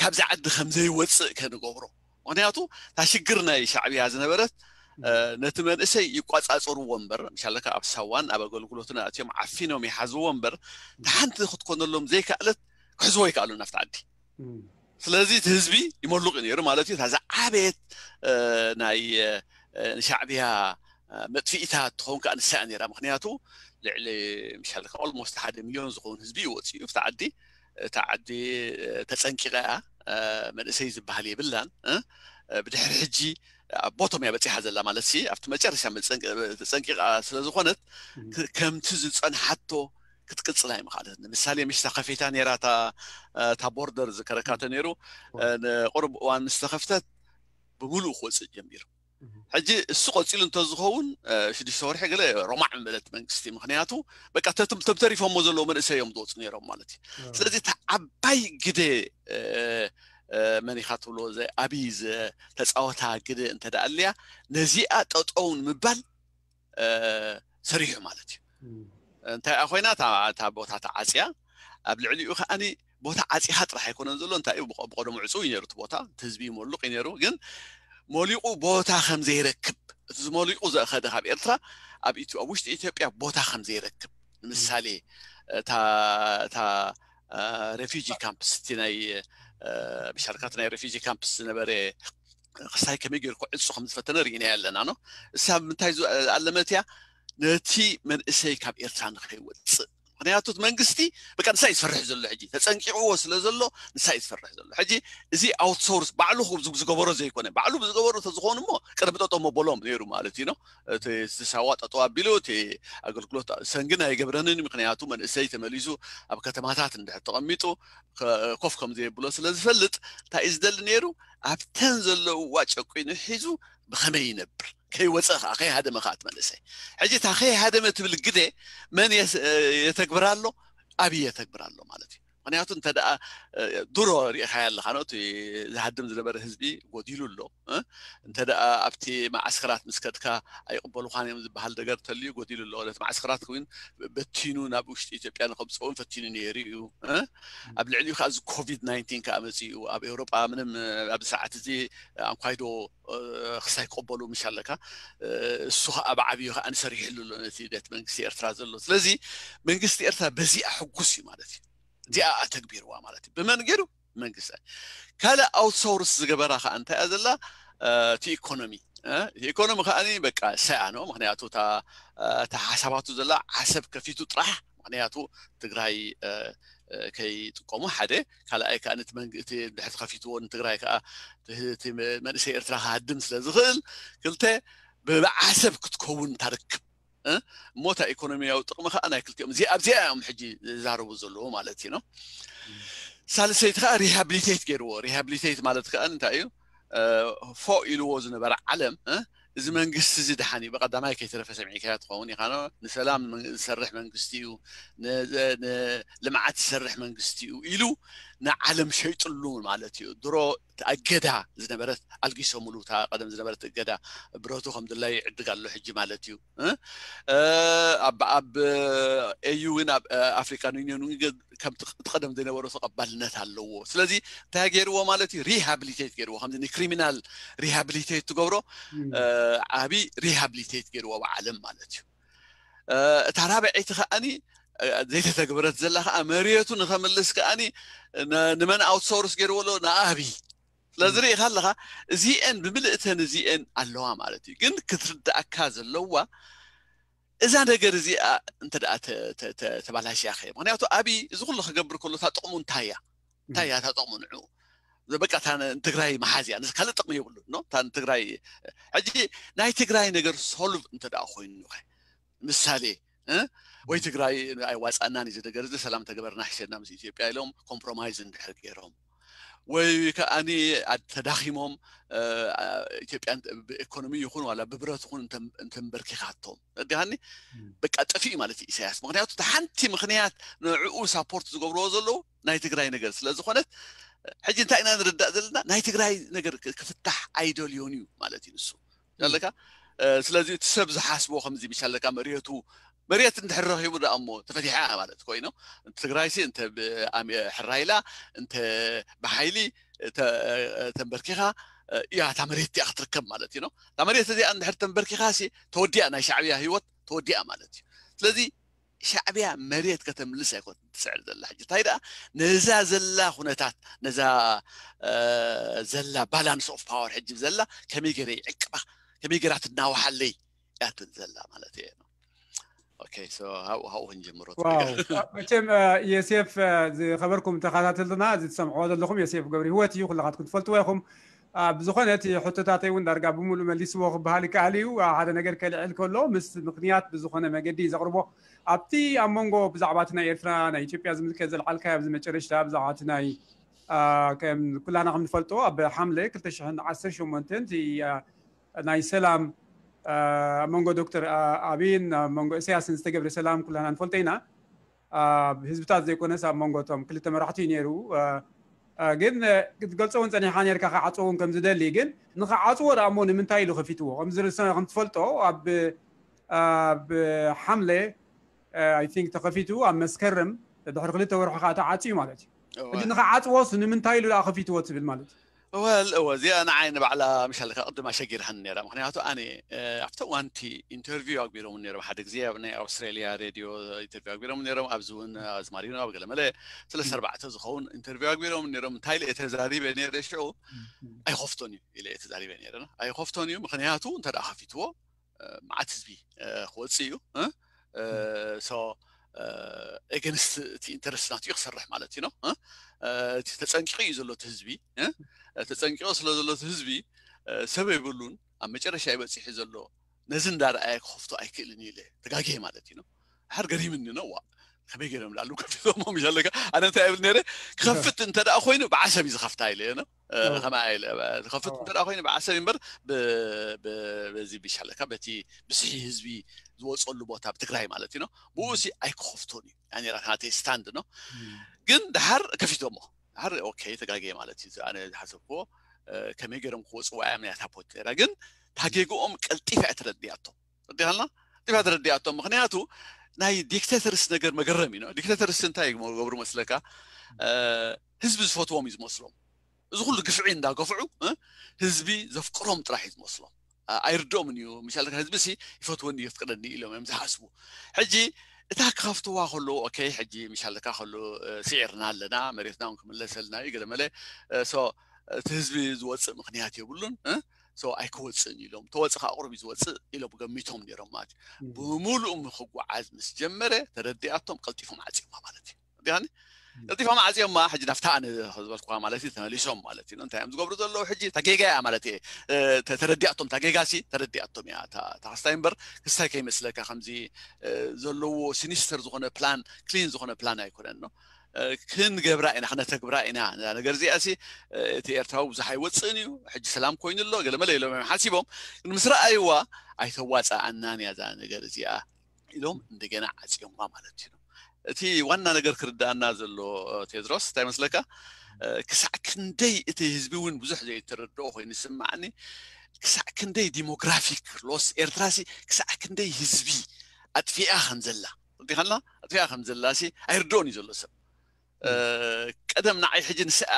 ካብዚ ዓዲ ከም ዘይወፅእ ከንገብሮ። ምክንያቱ እታ ሽግር ናይ ሻዕብያ ዝነበረት ነቲ መንእሰይ ይቋፃፀርዎ እምበር ምሻለካ ኣብ ሳዋን ኣብ ኣገልግሎትን ኣትዮም ዓፊኖም ይሓዝዎ እምበር ሓንቲ ክትኮነሎም ዘይከኣለት ክሕዝዎ ይከኣሉ ናብቲ ዓዲ። ስለዚ እቲ ህዝቢ ይመሉቕ እዩ ነይሩ ማለት እዩ። እታ ዝዓበየት ናይ ንሻዕብያ መጥፊኢታ ትኸውን ከዓ ንሳ እያ ነይራ። ምክንያቱ ልዕሊ ምሻልካ ኦልሞስት ሓደ ሚሊዮን ዝኸውን ህዝቢ እዩ ወፂኡ ብቲ ዓዲ። እታ ዓዲ ተፀንቂቐ እያ። መንእሰይ ዝበሃል የብላን። ብድሕሪ ሕጂ ኣብ ቦቶም እያ በፂሓ ዘላ ማለት ሲ ኣብቲ መጨረሻ ተፀንቂቓ ስለዝኾነት ከምቲ ዝፀንሓቶ ክትቅፅል ኣይምኻለት። ንምሳሌ ምሽ ተኸፊታ ነይራ እታ ቦርደር ዝከረካተ ነይሩ። ንቁሩብ እዋን ምስ ተኸፍተት ብምሉእ ክወፅእ ጀሚሩ። ሕጂ እሱ ቀፂሉ እንተዝኸውን ሽዱሽተ ወርሒ ገለ ሮማዕ ምበለት መንግስቲ። ምክንያቱ በቃ ተም ተሪፎሞ ዘለዉ መንእሰይ እዮም ዝወፁ ነይሮም ማለት እዩ። ስለዚ እቲ ዓባይ ግደ መን ኢኻ ትብሎ ኣብይ ዝተፃወታ ግደ እንተደኣ ኣልያ ነዚኣ ጠጠውን ምባል ሰሪሑ ማለት እዩ። እንታይ ኮይና እታ ቦታ ተዓፅያ ኣብ ልዕሊኡ ከዓኒ ቦታ ዓፂኻ ጥራሕ ኣይኮነን ዘሎ እንታይ ብቀደሙ ዕፁው እዩ ነይሩ እቲ ቦታ እቲ ህዝቢ ይመሉቕ እዩ ነይሩ። ግን መሊቑ ቦታ ከም ዘይረክብ እቲ ዝመሊቑ ዘእኸደ ካብ ኤርትራ ኣብ ውሽጢ ኢትዮጵያ ቦታ ከም ዘይረክብ ንምሳሌ እታ ሬፊጂ ካምፕስ እቲ ናይ ብሻርካት ናይ ሬፊጂ ካምፕስ ዝነበረ ክሳይ ከመይ ገይሩ ክዕፁ ከም ዝፈተነ ርኢና ኣለና ነው። እሳ ምንታይ ዝኣለመት እያ ነቲ መንእሰይ ካብ ኤርትራ ንኸይወፅእ። ምክንያቱ መንግስቲ በቃ ንሳ እዩ ዝፈርሕ ዘሎ ሕጂ ተፀንቂቕዎ ስለ ዘሎ ንሳ እዩ ዝፈርሕ ዘሎ ሕጂ። እዚ ኣውትሶርስ ባዕሉ ዝገበሮ ዘይኮነ ባዕሉ ብዝገበሮ ተዝኾኑ እሞ ቅድሚ ጠጠሞ በሎም ነይሩ ማለት እዩ ነው። እቲ ሳዋ ጠጠው ኣቢሉ እቲ ኣገልግሎት ሰንግን ኣይገብረንን። ምክንያቱ መንእሰይ ተመሊሱ ኣብ ከተማታት እንድሕር ተቐሚጡ ኮፍ ከም ዘየብሎ ስለ ዝፈልጥ እንታይ እዩ ዝደሊ ነይሩ ኣብተን ዘለውዋ ጨቂኑ ሒዙ ብኸመይ ይነብር ከይወፀ ከዓ ከይሃደመ ከዓ እቲ መንእሰይ ሕጂ እታ ከይሃደመ ትብል ግደ መን የተግብራ ኣሎ ኣብይ የተግብራ ኣሎ ማለት እዩ። ምክንያቱ እንተ ደኣ ድሮ ሪኢኻያ ኣለኻ ነው እቲ ዝሃድም ዝነበረ ህዝቢ ጎዲሉ ኣሎ። እንተ ደኣ ኣብቲ መዓስከራት ምስ ከድካ ኣይቕበሉኻን እዮም ዝበሃል ነገር ተልዩ ጎዲሉ ኣሎ። ነቲ መዓስከራት እውን በቲኑ ናብ ውሽጢ ኢትዮጵያ ንከምፅኡን ፈቲኑ ነይሩ እዩ። ኣብ ልዕሊኡ ከዓ እዚ ኮቪድ ናይንቲን ከዓ መፂኡ ኣብ ኤውሮጳ ምንም ኣብዚ ሰዓት እዚ ኣንኳይዶ ክሳይ ክቕበሉ ምሽ ኣለካ እሱ ከዓ ብዓብዩ ከዓ ንሰሪሕሉ ኣሎ ነቲ ቤት መንግስቲ ኤርትራ ዘሎ። ስለዚ መንግስቲ ኤርትራ በዚኣ ሕጉስ እዩ ማለት እዩ። እዚኣ ኣተግቢርዋ ማለት እዩ። ብመን ገይሩ መንግስቲ ካልእ ኣውትሶርስ ዝገበራ ከዓ እንታይ እያ ዘላ እቲ ኢኮኖሚ እቲ ኢኮኖሚ ከዓ በቃ ሰያ ነው። ምክንያቱ እታ ሓሳባቱ ዘላ ዓሰብ ከፊቱ ጥራሕ ምክንያቱ ትግራይ ከይጥቀሙ ሓደ ካልኣይ ከዓ እቲ ድሕር ከፊትዎ ንትግራይ ከዓ መንእሰይ ኤርትራ ክሃድም ስለ ዝኽእል ክልተ ብዓሰብ ክትከውን ታርክብ እሞ እታ ኢኮኖሚያዊ ጥቕሚ ከዓ ናይ ክልቲኦም እዚኣ ኣብዚኣ እዮም ሕጂ ዝዛረቡ ዘለዎ ማለት እዩ። ሳልሰይቲ ከዓ ሪሃብሊቴት ገይርዎ። ሪሃብሊቴት ማለት ከዓ እንታይ እዩ? ፎ ኢልዎ ዝነበረ ዓለም እዚ መንግስቲ እዚ ደሓን እዩ፣ ብቀዳማይ ከይተረፈ ሰሚዕካያ ትኸውን ኢኻ። ንሰላም ዝሰርሕ መንግስቲ እዩ፣ ንልምዓት ዝሰርሕ መንግስቲ እዩ ኢሉ ንዓለም ሸይጥሉ ማለት እዩ። ድሮ እገዳ ዝነበረት ኣልጊሶምሉ፣ እታ ቀደም ዝነበረት እገዳ ብረቱ ከም ድላይ ይዕድግ ኣሎ ሕጂ ማለት እዩ። ኣብ ኤዩ እውን ኣብ ኣፍሪካን ዩኒዮን እውን ከምቲ ቀደም ዝነበሮ ተቐባልነት ኣለዎ። ስለዚ እንታይ ገይርዎ ማለት እዩ? ሪሃብሊቴት ገይርዎ። ከምዚ ንክሪሚናል ሪሃብሊቴት ትገብሮ፣ ዓብዪ ሪሃብሊቴት ገይርዎ ብዓለም ማለት እዩ። እታ ራብዐይቲ ከዓኒ ዘይተተግበረት ዘላ ከዓ መሬቱ ንኸምልስ ከዓኒ ንመን ኣውትሶርስ ገይርዎ ኣሎ? ንኣብይ። ስለዚ ርኢኻ ኣለኻ፣ እዚአን ብምልእተን እዚአን ኣለዋ ማለት እዩ። ግን ክትርዳእካ ዘለዋ እዛ ነገር እዚኣ እንተ ደኣ ተባላሽያ ኸ? ምክንያቱ ኣብይ እዚ ኩሉ ክገብር ከሎ እታ ጥቕሙ እንታይ እያ? እንታይ እያ እታ ጥቕሙ ንዑ? በቃ እታ ንትግራይ መሓዝ እያ፣ ካልእ ጥቕሚ የብሉ። እታ ንትግራይ ሕጂ ናይ ትግራይ ነገር ሶልቭ እንተ ደኣ ኮይኑ ኸ? ምሳሌ ወይ ትግራይ ኣይዋፃእናን እዩ ነገር እዚ ሰላም ተገበርና ሕሸና ምስ ኢትዮጵያ ኢሎም ኮምፕሮማይዝ እንድሕር ገይሮም ወይ ከዓኒ ተዳኺሞም ኢትዮጵያ ብኢኮኖሚ ይኹን ዋላ ብብረት ይኹን እንተንበርኪኻቶም ዲሃኒ በቃ ጠፊኡ ማለት እዩ ኢሳያስ። ምክንያቱ ሓንቲ ምክንያት ንዕኡ ሳፖርት ዝገብርዎ ዘለዉ ናይ ትግራይ ነገር ስለ ዝኾነት ሕጂ እንታይ ኢና ንርዳእ ዘለና? ናይ ትግራይ ነገር ክፍታሕ ኣይደልዮን እዩ ማለት እዩ ንሱ ኣለካ። ስለዚ እቲ ሰብ ዝሓስቦ ከምዚ ምሽ ኣለካ መሬቱ መሬት እንድሕር ረኺቡ ደኣ እሞ ተፈቲሓ ማለት ኮይኑ ትግራይሲ እንተ ሕራይላ እንተ ብሓይሊ ተንበርኪኻ እያ እታ መሬት እቲኣ ክትርከብ ማለት እዩ። እታ መሬት እዚኣ እንድሕር ተንበርኪኻ ሲ ተወዲኣ፣ ናይ ሻዕብያ ህይወት ተወዲኣ ማለት እዩ። ስለዚ ሻዕብያ መሬት ከተምልስ ኣይኮን ትስዕር ዘላ ሕጂ እንታይ ደኣ ነዛ ዘላ ኩነታት ነዛ ዘላ ባላንስ ኦፍ ፓወር ሕጂ ዘላ ከመይ ገይረ ይዕቅባ ከመይ ገይራ ትናዋሓለይ እያ ትብል ዘላ ማለት እየ። ኦኬ፣ ሶ ሃው ሃው ክንጀምሮ መቸም የሴፍ ዝኸበርኩም ተኸታተልትና እዚ ትሰምዕዎ ዘለኹም የሴፍ ገብሪ ህይወት እዩ። ኩላኻትኩም ትፈልጥዎ ኢኹም። ብዝኾነ እቲ ሕቶታተይ እውን ዳርጋ ብምሉእ መሊስዎ ክበሃል ይከኣል እዩ። ሓደ ነገር ከልዕል ከሎ ምስ ምክንያት ብዝኾነ መገዲ ዘቕርቦ ኣብቲ ኣብ መንጎ ብዛዕባ እቲ ናይ ኤርትራ ናይ ኢትዮጵያ ዝምልከት ዘልዓልካዮ ኣብዚ መጨረሽታ ብዛዕባ እቲ ናይ ኩላና ከም ንፈልጦ ኣብ ሓምለ ክልተ ሽሕን ዓሰርተ ሸሞንተን ናይ ሰላም ኣብ መንጎ ዶክተር ኣብይን ኣብ መንጎ እሰያስን ዝተገብረ ሰላም ኩላና ንፈልጦ ኢና። ኣብ ህዝብታት ዘይኮነስ ኣብ መንጎ እቶም ክልተ መራሕቲ እዩ ነይሩ። ግን ክትገልፆ እውን ፀኒሕካ ነርካ ክዓፅዎ እውን ከም ዝደሊ ግን ንክዓፅዎ ደኣ እሞ ንምንታይ ኢሉ ከፊትዎ ከምትፈልጦ ኣብ ኣብ ሓምለ ኣይ ቲንክ ተኸፊቱ ኣብ መስከረም ድሕሪ ክልተ ወርሒ ከዓ ተዓፅዩ ማለት እዩ። ሕጂ ንክዓፅዎስ ንምንታይ ኢሉ ደኣ ከፊትዎ ትብል ማለት እዩ? ወል እወ እዚኣ ንዓይ ንባዕላ ምሻለካ ቅድም ኣሸጊርሃኒ ነራ ምክንያቱ ኣነ ኣብቲ ዋንቲ ኢንተርቪው ኣግቢሮም ነሮም ሓደ ግዜ ኣብ ናይ ኣውስትራሊያ ሬድዮ ኢንተርቪው ኣግቢሮም ነሮም ኣብዚ እውን ኣዝማሪኖ ኣብ ገለመለ ስለስተ ኣርባዕተ ዝኸውን ኢንተርቪው ኣግቢሮም ነሮም እንታይ ኢለ ተዛሪበ ነረ ሽዑ ኣይኸፍቶን እዩ ኢለ ተዛሪበ ነረ ኣይኸፍቶን እዩ ምክንያቱ እንተ ከፊትዎ መዓት ህዝቢ ክወፅእ እዩ ሶ ኤገንስት እቲ ኢንተረስት ናትኡ ክሰርሕ ማለት እዩ እቲ ተፀንቂቑ እዩ ዘሎ እቲ ህዝቢ ተፀንቂቑ ስለ ዘሎ እቲ ህዝቢ ሰብ የብሉን ኣብ መጨረሻ ይበፂሑ ዘሎ ነዚ እንዳረኣየ ክኸፍቶ ኣይክእልን እዩ ኢለ ተጋግየ ማለት እዩ ሓር ገሪምኒ ነው ዋ ከመይ ገይሮም ላሉ ከፊቶሞ ምሽ ኣለካ ኣነ እንታይ እብል ነረ ክኸፍት እንተ ደኣ ኮይኑ ብዓሰብ እዩ ዝኸፍታ ኢለ ከማ ኢለ ዝኸፍት እንተ ደኣ ኮይኑ ብዓሰብ እምበር በዚ ምሽ ኣለካ በቲ ብስሒ ህዝቢ ዝወፀሉ ቦታ ኣብ ትግራይ ማለት እዩ ብኡ ሲ ኣይክኸፍቶን እዩ ያኔ ናተይ ስታንድ ነው ግን ድሓር ከፊቶሞ ድሓር ኦኬ ተጋግየ ማለት እዩ ኣነ ዝሓሰብክዎ ከመይ ገይሮም ክወፅዋ እዮም ናታ ፖንት ነራ ግን ታጌግኦም ቀልጢፋ እያ ተረዲኣቶም ረዲኻልና ጢፋ ተረዲኣቶም ምክንያቱ ናይ ዲክቴተርስ ነገር መገረም እዩ ዲክቴተርስ እንታይ ገብሩ መስለካ ህዝቢ ዝፈትዎም እዩ ዝመስሎም እዚ ኩሉ ግፍዒ እንዳገፍዑ ህዝቢ ዘፍቅሮም ጥራሕ እዩ ዝመስሎም ኣይርድኦምን እዩ ምሻል ህዝቢ ሲ ይፈትወኒ የፍቅረኒ ኢሎም እዮም ዝሓስቡ ሕጂ እታ ክኸፍትዋ ከለዉ ኦኬ ሕጂ ምሻለካ ከሎ ስዒርና ኣለና መሬትና እውን ክምለሰልና እዩ ገለመለ እቲ ህዝቢ ዝወፅእ ምክንያት የብሉን ኣይክወፅእን ኢሎም ተወፅእ ከዓ ቁሩብ ዝወፅእ ኢሎም ገሚቶም ነይሮም ማለት እዩ ብምሉእ ክጓዓዝ ምስ ጀመረ ተረዲኣቶም ቀልጢፎም ዓፂማ ማለት እዩ ቀልጢፎም ዓፅዮማ። ሕጂ ናብታ ኣነ ዝበልኩዋ ማለት እዩ ተመሊሶም ማለት እዩ። እንታይ እዮም ዝገብሩ ዘለዉ? ሕጂ ታጌጋ እያ ማለት እየ ተረዲኣቶም። ታጌጋ ሲ ተረዲኣቶም እያ ታክስታይ እምበር ክስታይ ከይመስለካ ከምዚ ዘለዎ ሲኒስተር ዝኾነ ፕላን፣ ክሊን ዝኾነ ፕላን ኣይኮነን ነው። ክንገብራ ኢና፣ ክነተግብራ ኢና። ነገር እዚኣ ሲ እቲ ኤርትራዊ ብዙሕ ኣይወፅእን እዩ፣ ሕጂ ሰላም ኮይኑ ኣሎ ገለመለ ኢሎም እዮም ሓሲቦም። ግን ምስ ረኣይዋ ኣይተዋፀኣናን እያ እዛ ነገር እዚኣ ኢሎም እንደገና ዓፅዮማ ማለት እዩ። እቲ ዋና ነገር ክርዳኣና ዘሎ ቴድሮስ እንታይ መስለካ? ክሳዕ ክንደይ እቲ ህዝቢ እውን ብዙሕ ዘይተረድኦ ኮይኑ ዝስማዓኒ፣ ክሳዕ ክንደይ ዲሞግራፊክ ሎስ ኤርትራ ሲ ክሳዕ ክንደይ ህዝቢ ኣጥፊኣ ከም ዘላ ዲኻና ኣጥፊኣ ከም ዘላ ሲ ኣይርድኦን እዩ ዘሎ ሰብ። ቀደም ንዓይ ሕጂ ንስኣ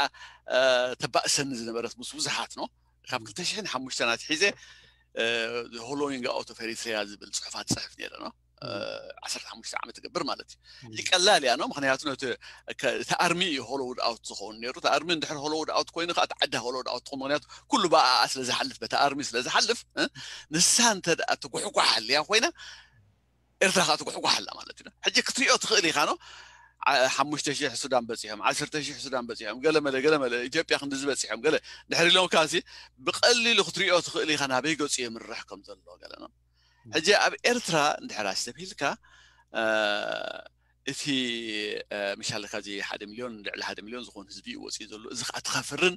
ተባእሰኒ ዝነበረት ምስ ብዙሓት ነው ካብ ክልተ ሽሕን ሓሙሽተን ኣትሒዘ ሆሎዊንግ ኣውት ኦፍ ኤሪትሪያ ዝብል ፅሑፋት ፅሕፍ ነይረ ነው። ዓሰርተ ሓሙሽተ ዓመት ትገብር ማለት እዩ። ቀላል እያ ነው። ምክንያቱ ነቲ ኣርሚ እዩ ሆሎውድ ኣውት ዝኸውን ነይሩ። እቲ ኣርሚ እንድሕር ሆሎውድ ኣውት ኮይኑ ከዓ ዓዳ ሆሎውድ ኣውት ትኸውን። ምክንያቱ ኩሉ ብኣኣ ስለ ዝሓልፍ፣ በቲ ኣርሚ ስለ ዝሓልፍ ንሳ እንተ ትጉሕጓሕ ኣልያ ኮይና ኤርትራ ከዓ ትጉሕጓሕ ኣላ ማለት እዩ። ሕጂ ክትሪኦ ትኽእል ኢኻ ነው። ሓሙሽተ ሽሕ ሱዳን በፂሖም፣ ዓሰርተ ሽሕ ሱዳን በፂሖም፣ ገለመለ ገለመለ ኢትዮጵያ ክንድዚ በፂሖም ገለ ድሕር ኢሎም ካሲ ብቀሊሉ ክትሪኦ ትኽእል ኢኻ ናበይ ገፁ የምርሕ ከም ዘሎ ገለ ነው። ሕጂ ኣብ ኤርትራ እንድሕር ኣስተብሂልካ እቲ ምሻለካ እዚ ሓደ ሚልዮን ልዕሊ ሓደ ሚልዮን ዝኾን ህዝቢ እዩ ወፂኡ ዘሎ። እዚ ከዓ ትኸፍርን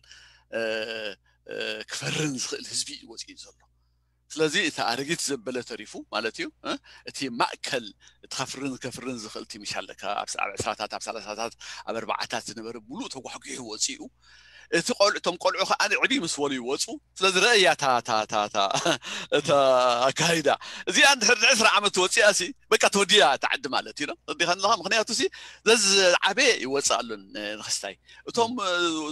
ክፈርን ዝኽእል ህዝቢ እዩ ወፂኡ ዘሎ። ስለዚ እቲ ኣረጊት ዘበለ ተሪፉ ማለት እዩ። እቲ ማእከል እቲ ከፍርን ከፍርን ዝኽእል እቲ ምሻለካ ኣብ ዕስራታት ኣብ ሰላሳታት ኣብ ኣርባዓታት ዝነበረ ሙሉእ ተጓሕጒሑ ወፂኡ። እቲ ቆልዑ እቶም ቆልዑ ከዓ ዕብይ ምስ በሉ ይወፁ። ስለዚ ረእያ እታ ኣካይዳ እዚኣ እንድሕር ዕስራ ዓመት ወፂኣ ሲ በቃ ተወዲያ እታ ዓዲ ማለት እዩ። ዲኻ ኣለኻ ምክንያቱ ሲ ዘዝዓበየ ይወፅእ ኣሉን ንክስታይ እቶም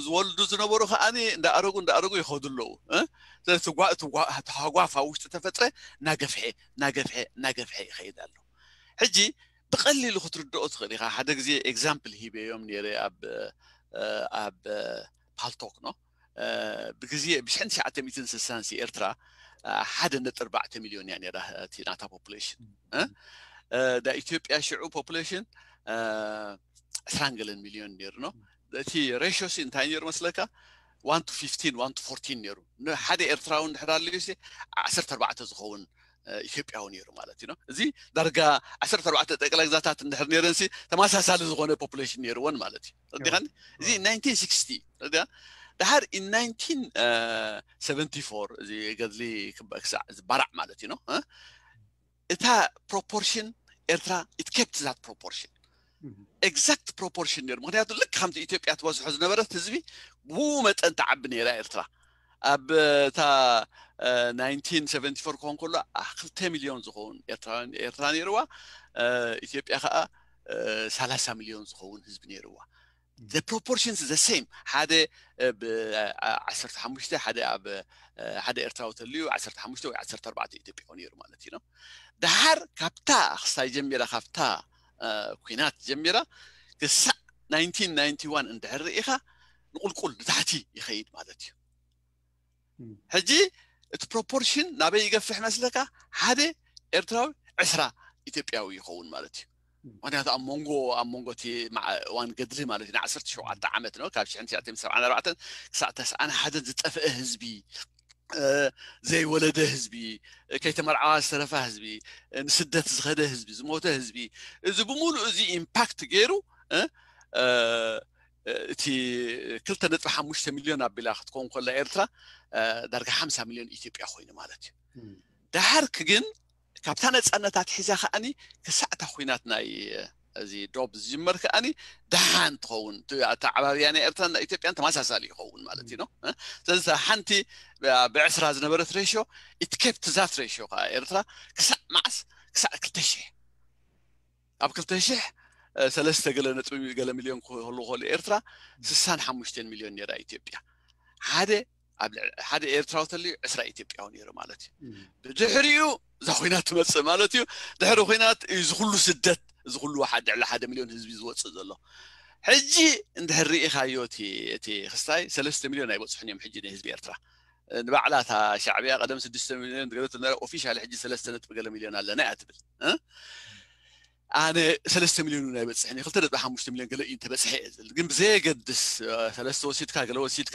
ዝወልዱ ዝነበሩ ከዓ እንዳኣረጉ እንዳኣረጉ ይኸዱ ኣለዉ። ተሃጓፍ ኣብ ውሽጢ ተፈጥረ እናገፍሐ እናገፍሐ እናገፍሐ ይኸይድ ኣሎ። ሕጂ ብቐሊሉ ክትርድኦ ትኽእል ኢኻ። ሓደ ግዜ ኤግዛምፕል ሂበዮም ነይረ ኣብ ኣብ ፓልቶክ ነው ብግዜ ብሽሕን ትሽዓተ ሚእትን ስሳን ሲ ኤርትራ ሓደ ነጥቢ ኣርባዕተ ሚልዮን እያ ነይራ እቲ ናታ ፖፑሌሽን። ዳ ኢትዮጵያ ሽዑ ፖፑሌሽን ዕስራን ገለን ሚልዮን ነይሩ ነው። እቲ ሬሽዮ ሲ እንታይ ነይሩ መስለካ? ዋን ቱ ፊፍቲን ዋን ቱ ፎርቲን ነይሩ። ንሓደ ኤርትራዊ እንድሕር ኣለዩ ሲ ዓሰርተ ኣርባዕተ ዝኸውን ኢትዮጵያዊ ነይሩ ማለት እዩ። እዚ ዳርጋ ዓሰርተ ኣርባዕተ ጠቅላይ ግዛታት እንድሕር ነይረን ሲ ተመሳሳሊ ዝኾነ ፖፑሌሽን ነይርወን ማለት እዩ። ረዲኻኒ? እዚ ናይንቲን ሲክስቲ ረዲኻ? ደሓር ኢን ናይንቲን ሰቨንቲ ፎር እዚ ገድሊ ክሳዕ ዝባራዕ ማለት እዩ ነው እታ ፕሮፖርሽን ኤርትራ it kept that proportion exact proportion ነይሩ። ምክንያቱ ልክ ከምቲ ኢትዮጵያ ትበዝሖ ዝነበረት ህዝቢ ብኡ መጠን ትዓቢ ነይራ ኤርትራ። ኣብ እታ ናይንቲን ሰቨንቲ ፎር ክኾን ከሎ ክልተ ሚልዮን ዝኸውን ኤርትራውያን ኤርትራ ነይርዋ። ኢትዮጵያ ከዓ ሰላሳ ሚልዮን ዝኸውን ህዝቢ ነይርዋ። The proportions the same ሓደ ብ ዓሰርተ ሓሙሽተ ሓደ ኣብ ሓደ ኤርትራዊ ተልዩ ዓሰርተ ሓሙሽተ ወይ ዓሰርተ ኣርባዕተ ኢትዮጵያዊ ነይሩ ማለት እዩ። ደሓር ካብታ ክስታይ ጀሚራ ካብታ ኩናት ጀሚራ ክሳዕ ናይንቲን ናይንቲ ዋን እንድሕር ርኢኻ ንቁልቁል ንታሕቲ ይኸይድ ማለት እዩ። ሕጂ እቲ ፕሮፖርሽን ናበይ ይገፍሕ መስለካ? ሓደ ኤርትራዊ ዕስራ ኢትዮጵያዊ ይኸውን ማለት እዩ። ምክንያቱ ኣብ መንጎ ኣብ መንጎ እቲ እዋን ገድሊ ማለት እዩ ዓሰርተ ሸውዓተ ዓመት ነው ካብ ሽሕን ትሽዓተ ሚእትን ሰብዓን ኣርባዕተን ክሳዕ ተስዓን ሓደን ዝጠፍአ ህዝቢ ዘይወለደ ህዝቢ፣ ከይተመርዓዋ ዝተረፋ ህዝቢ፣ ንስደት ዝኸደ ህዝቢ፣ ዝሞተ ህዝቢ፣ እዚ ብምሉእ እዚ ኢምፓክት ገይሩ እቲ ክልተ ነጥቢ ሓሙሽተ ሚልዮን ኣቢላ ክትከውን ከላ ኤርትራ ዳርጋ ሓምሳ ሚልዮን ኢትዮጵያ ኮይኑ ማለት እዩ። ደሓርክ ግን ካብታ ነፃነታት ሒዛ ከዓኒ ክሳዕታ ኩናት ናይ እዚ ዶብ ዝጅመር ከዓኒ ደሓን ትኸውን። ኣተዓባብያ ናይ ኤርትራን ናይ ኢትዮጵያን ተመሳሳሊ ይኸውን ማለት እዩ። ስለዚ ሓንቲ ብዕስራ ዝነበረት ሬሽዮ ኢትኬፕት ዛት ሬሽዮ ከዓ ኤርትራ ክሳዕ መዓስ? ክሳዕ ክልተ ሽሕ ኣብ ክልተ ሽሕ ሰለስተ ገለ ነጥቢ ገለ ሚልዮን ክህሉ ከሎ ኤርትራ ስሳን ሓሙሽተን ሚልዮን ነይራ ኢትዮጵያ። ሓደ ኣብ ሓደ ኤርትራዊ ተልዩ ዕስራ ኢትዮጵያዊ ነይሩ ማለት እዩ። ብድሕሪኡ እዛ ኮይና ትመፅእ ማለት እዩ። ድሕሪ ኮይናት እዚ ኩሉ ስደት እዚ ኩሉ ሓደ ልዕሊ ሓደ ሚልዮን ህዝቢ ዝወፅእ ዘሎ። ሕጂ እንድሕር ርኢኻዮ እቲ ክስታይ ሰለስተ ሚልዮን ኣይበፅሑን እዮም ሕጂ ንህዝቢ ኤርትራ። ንባዕላ እታ ሻዕብያ ቀደም ስድስተ ሚልዮን ገለ ኦፊሻል ሕጂ ሰለስተ ነጥቢ ገለ ሚልዮን ኣለና እያ ትብል። ኣነ ሰለስተ ሚልዮን እውን ኣይበፅሕን እዩ፣ ክልተ ነጥቢ ሓሙሽተ ሚልዮን ገለ እዩ እንተበፅሐ እየ ዝብል። ግን ብዘየገድስ፣ እ፣ ሰለስተ ወሲድካ፣ ገለ ወሲድካ፣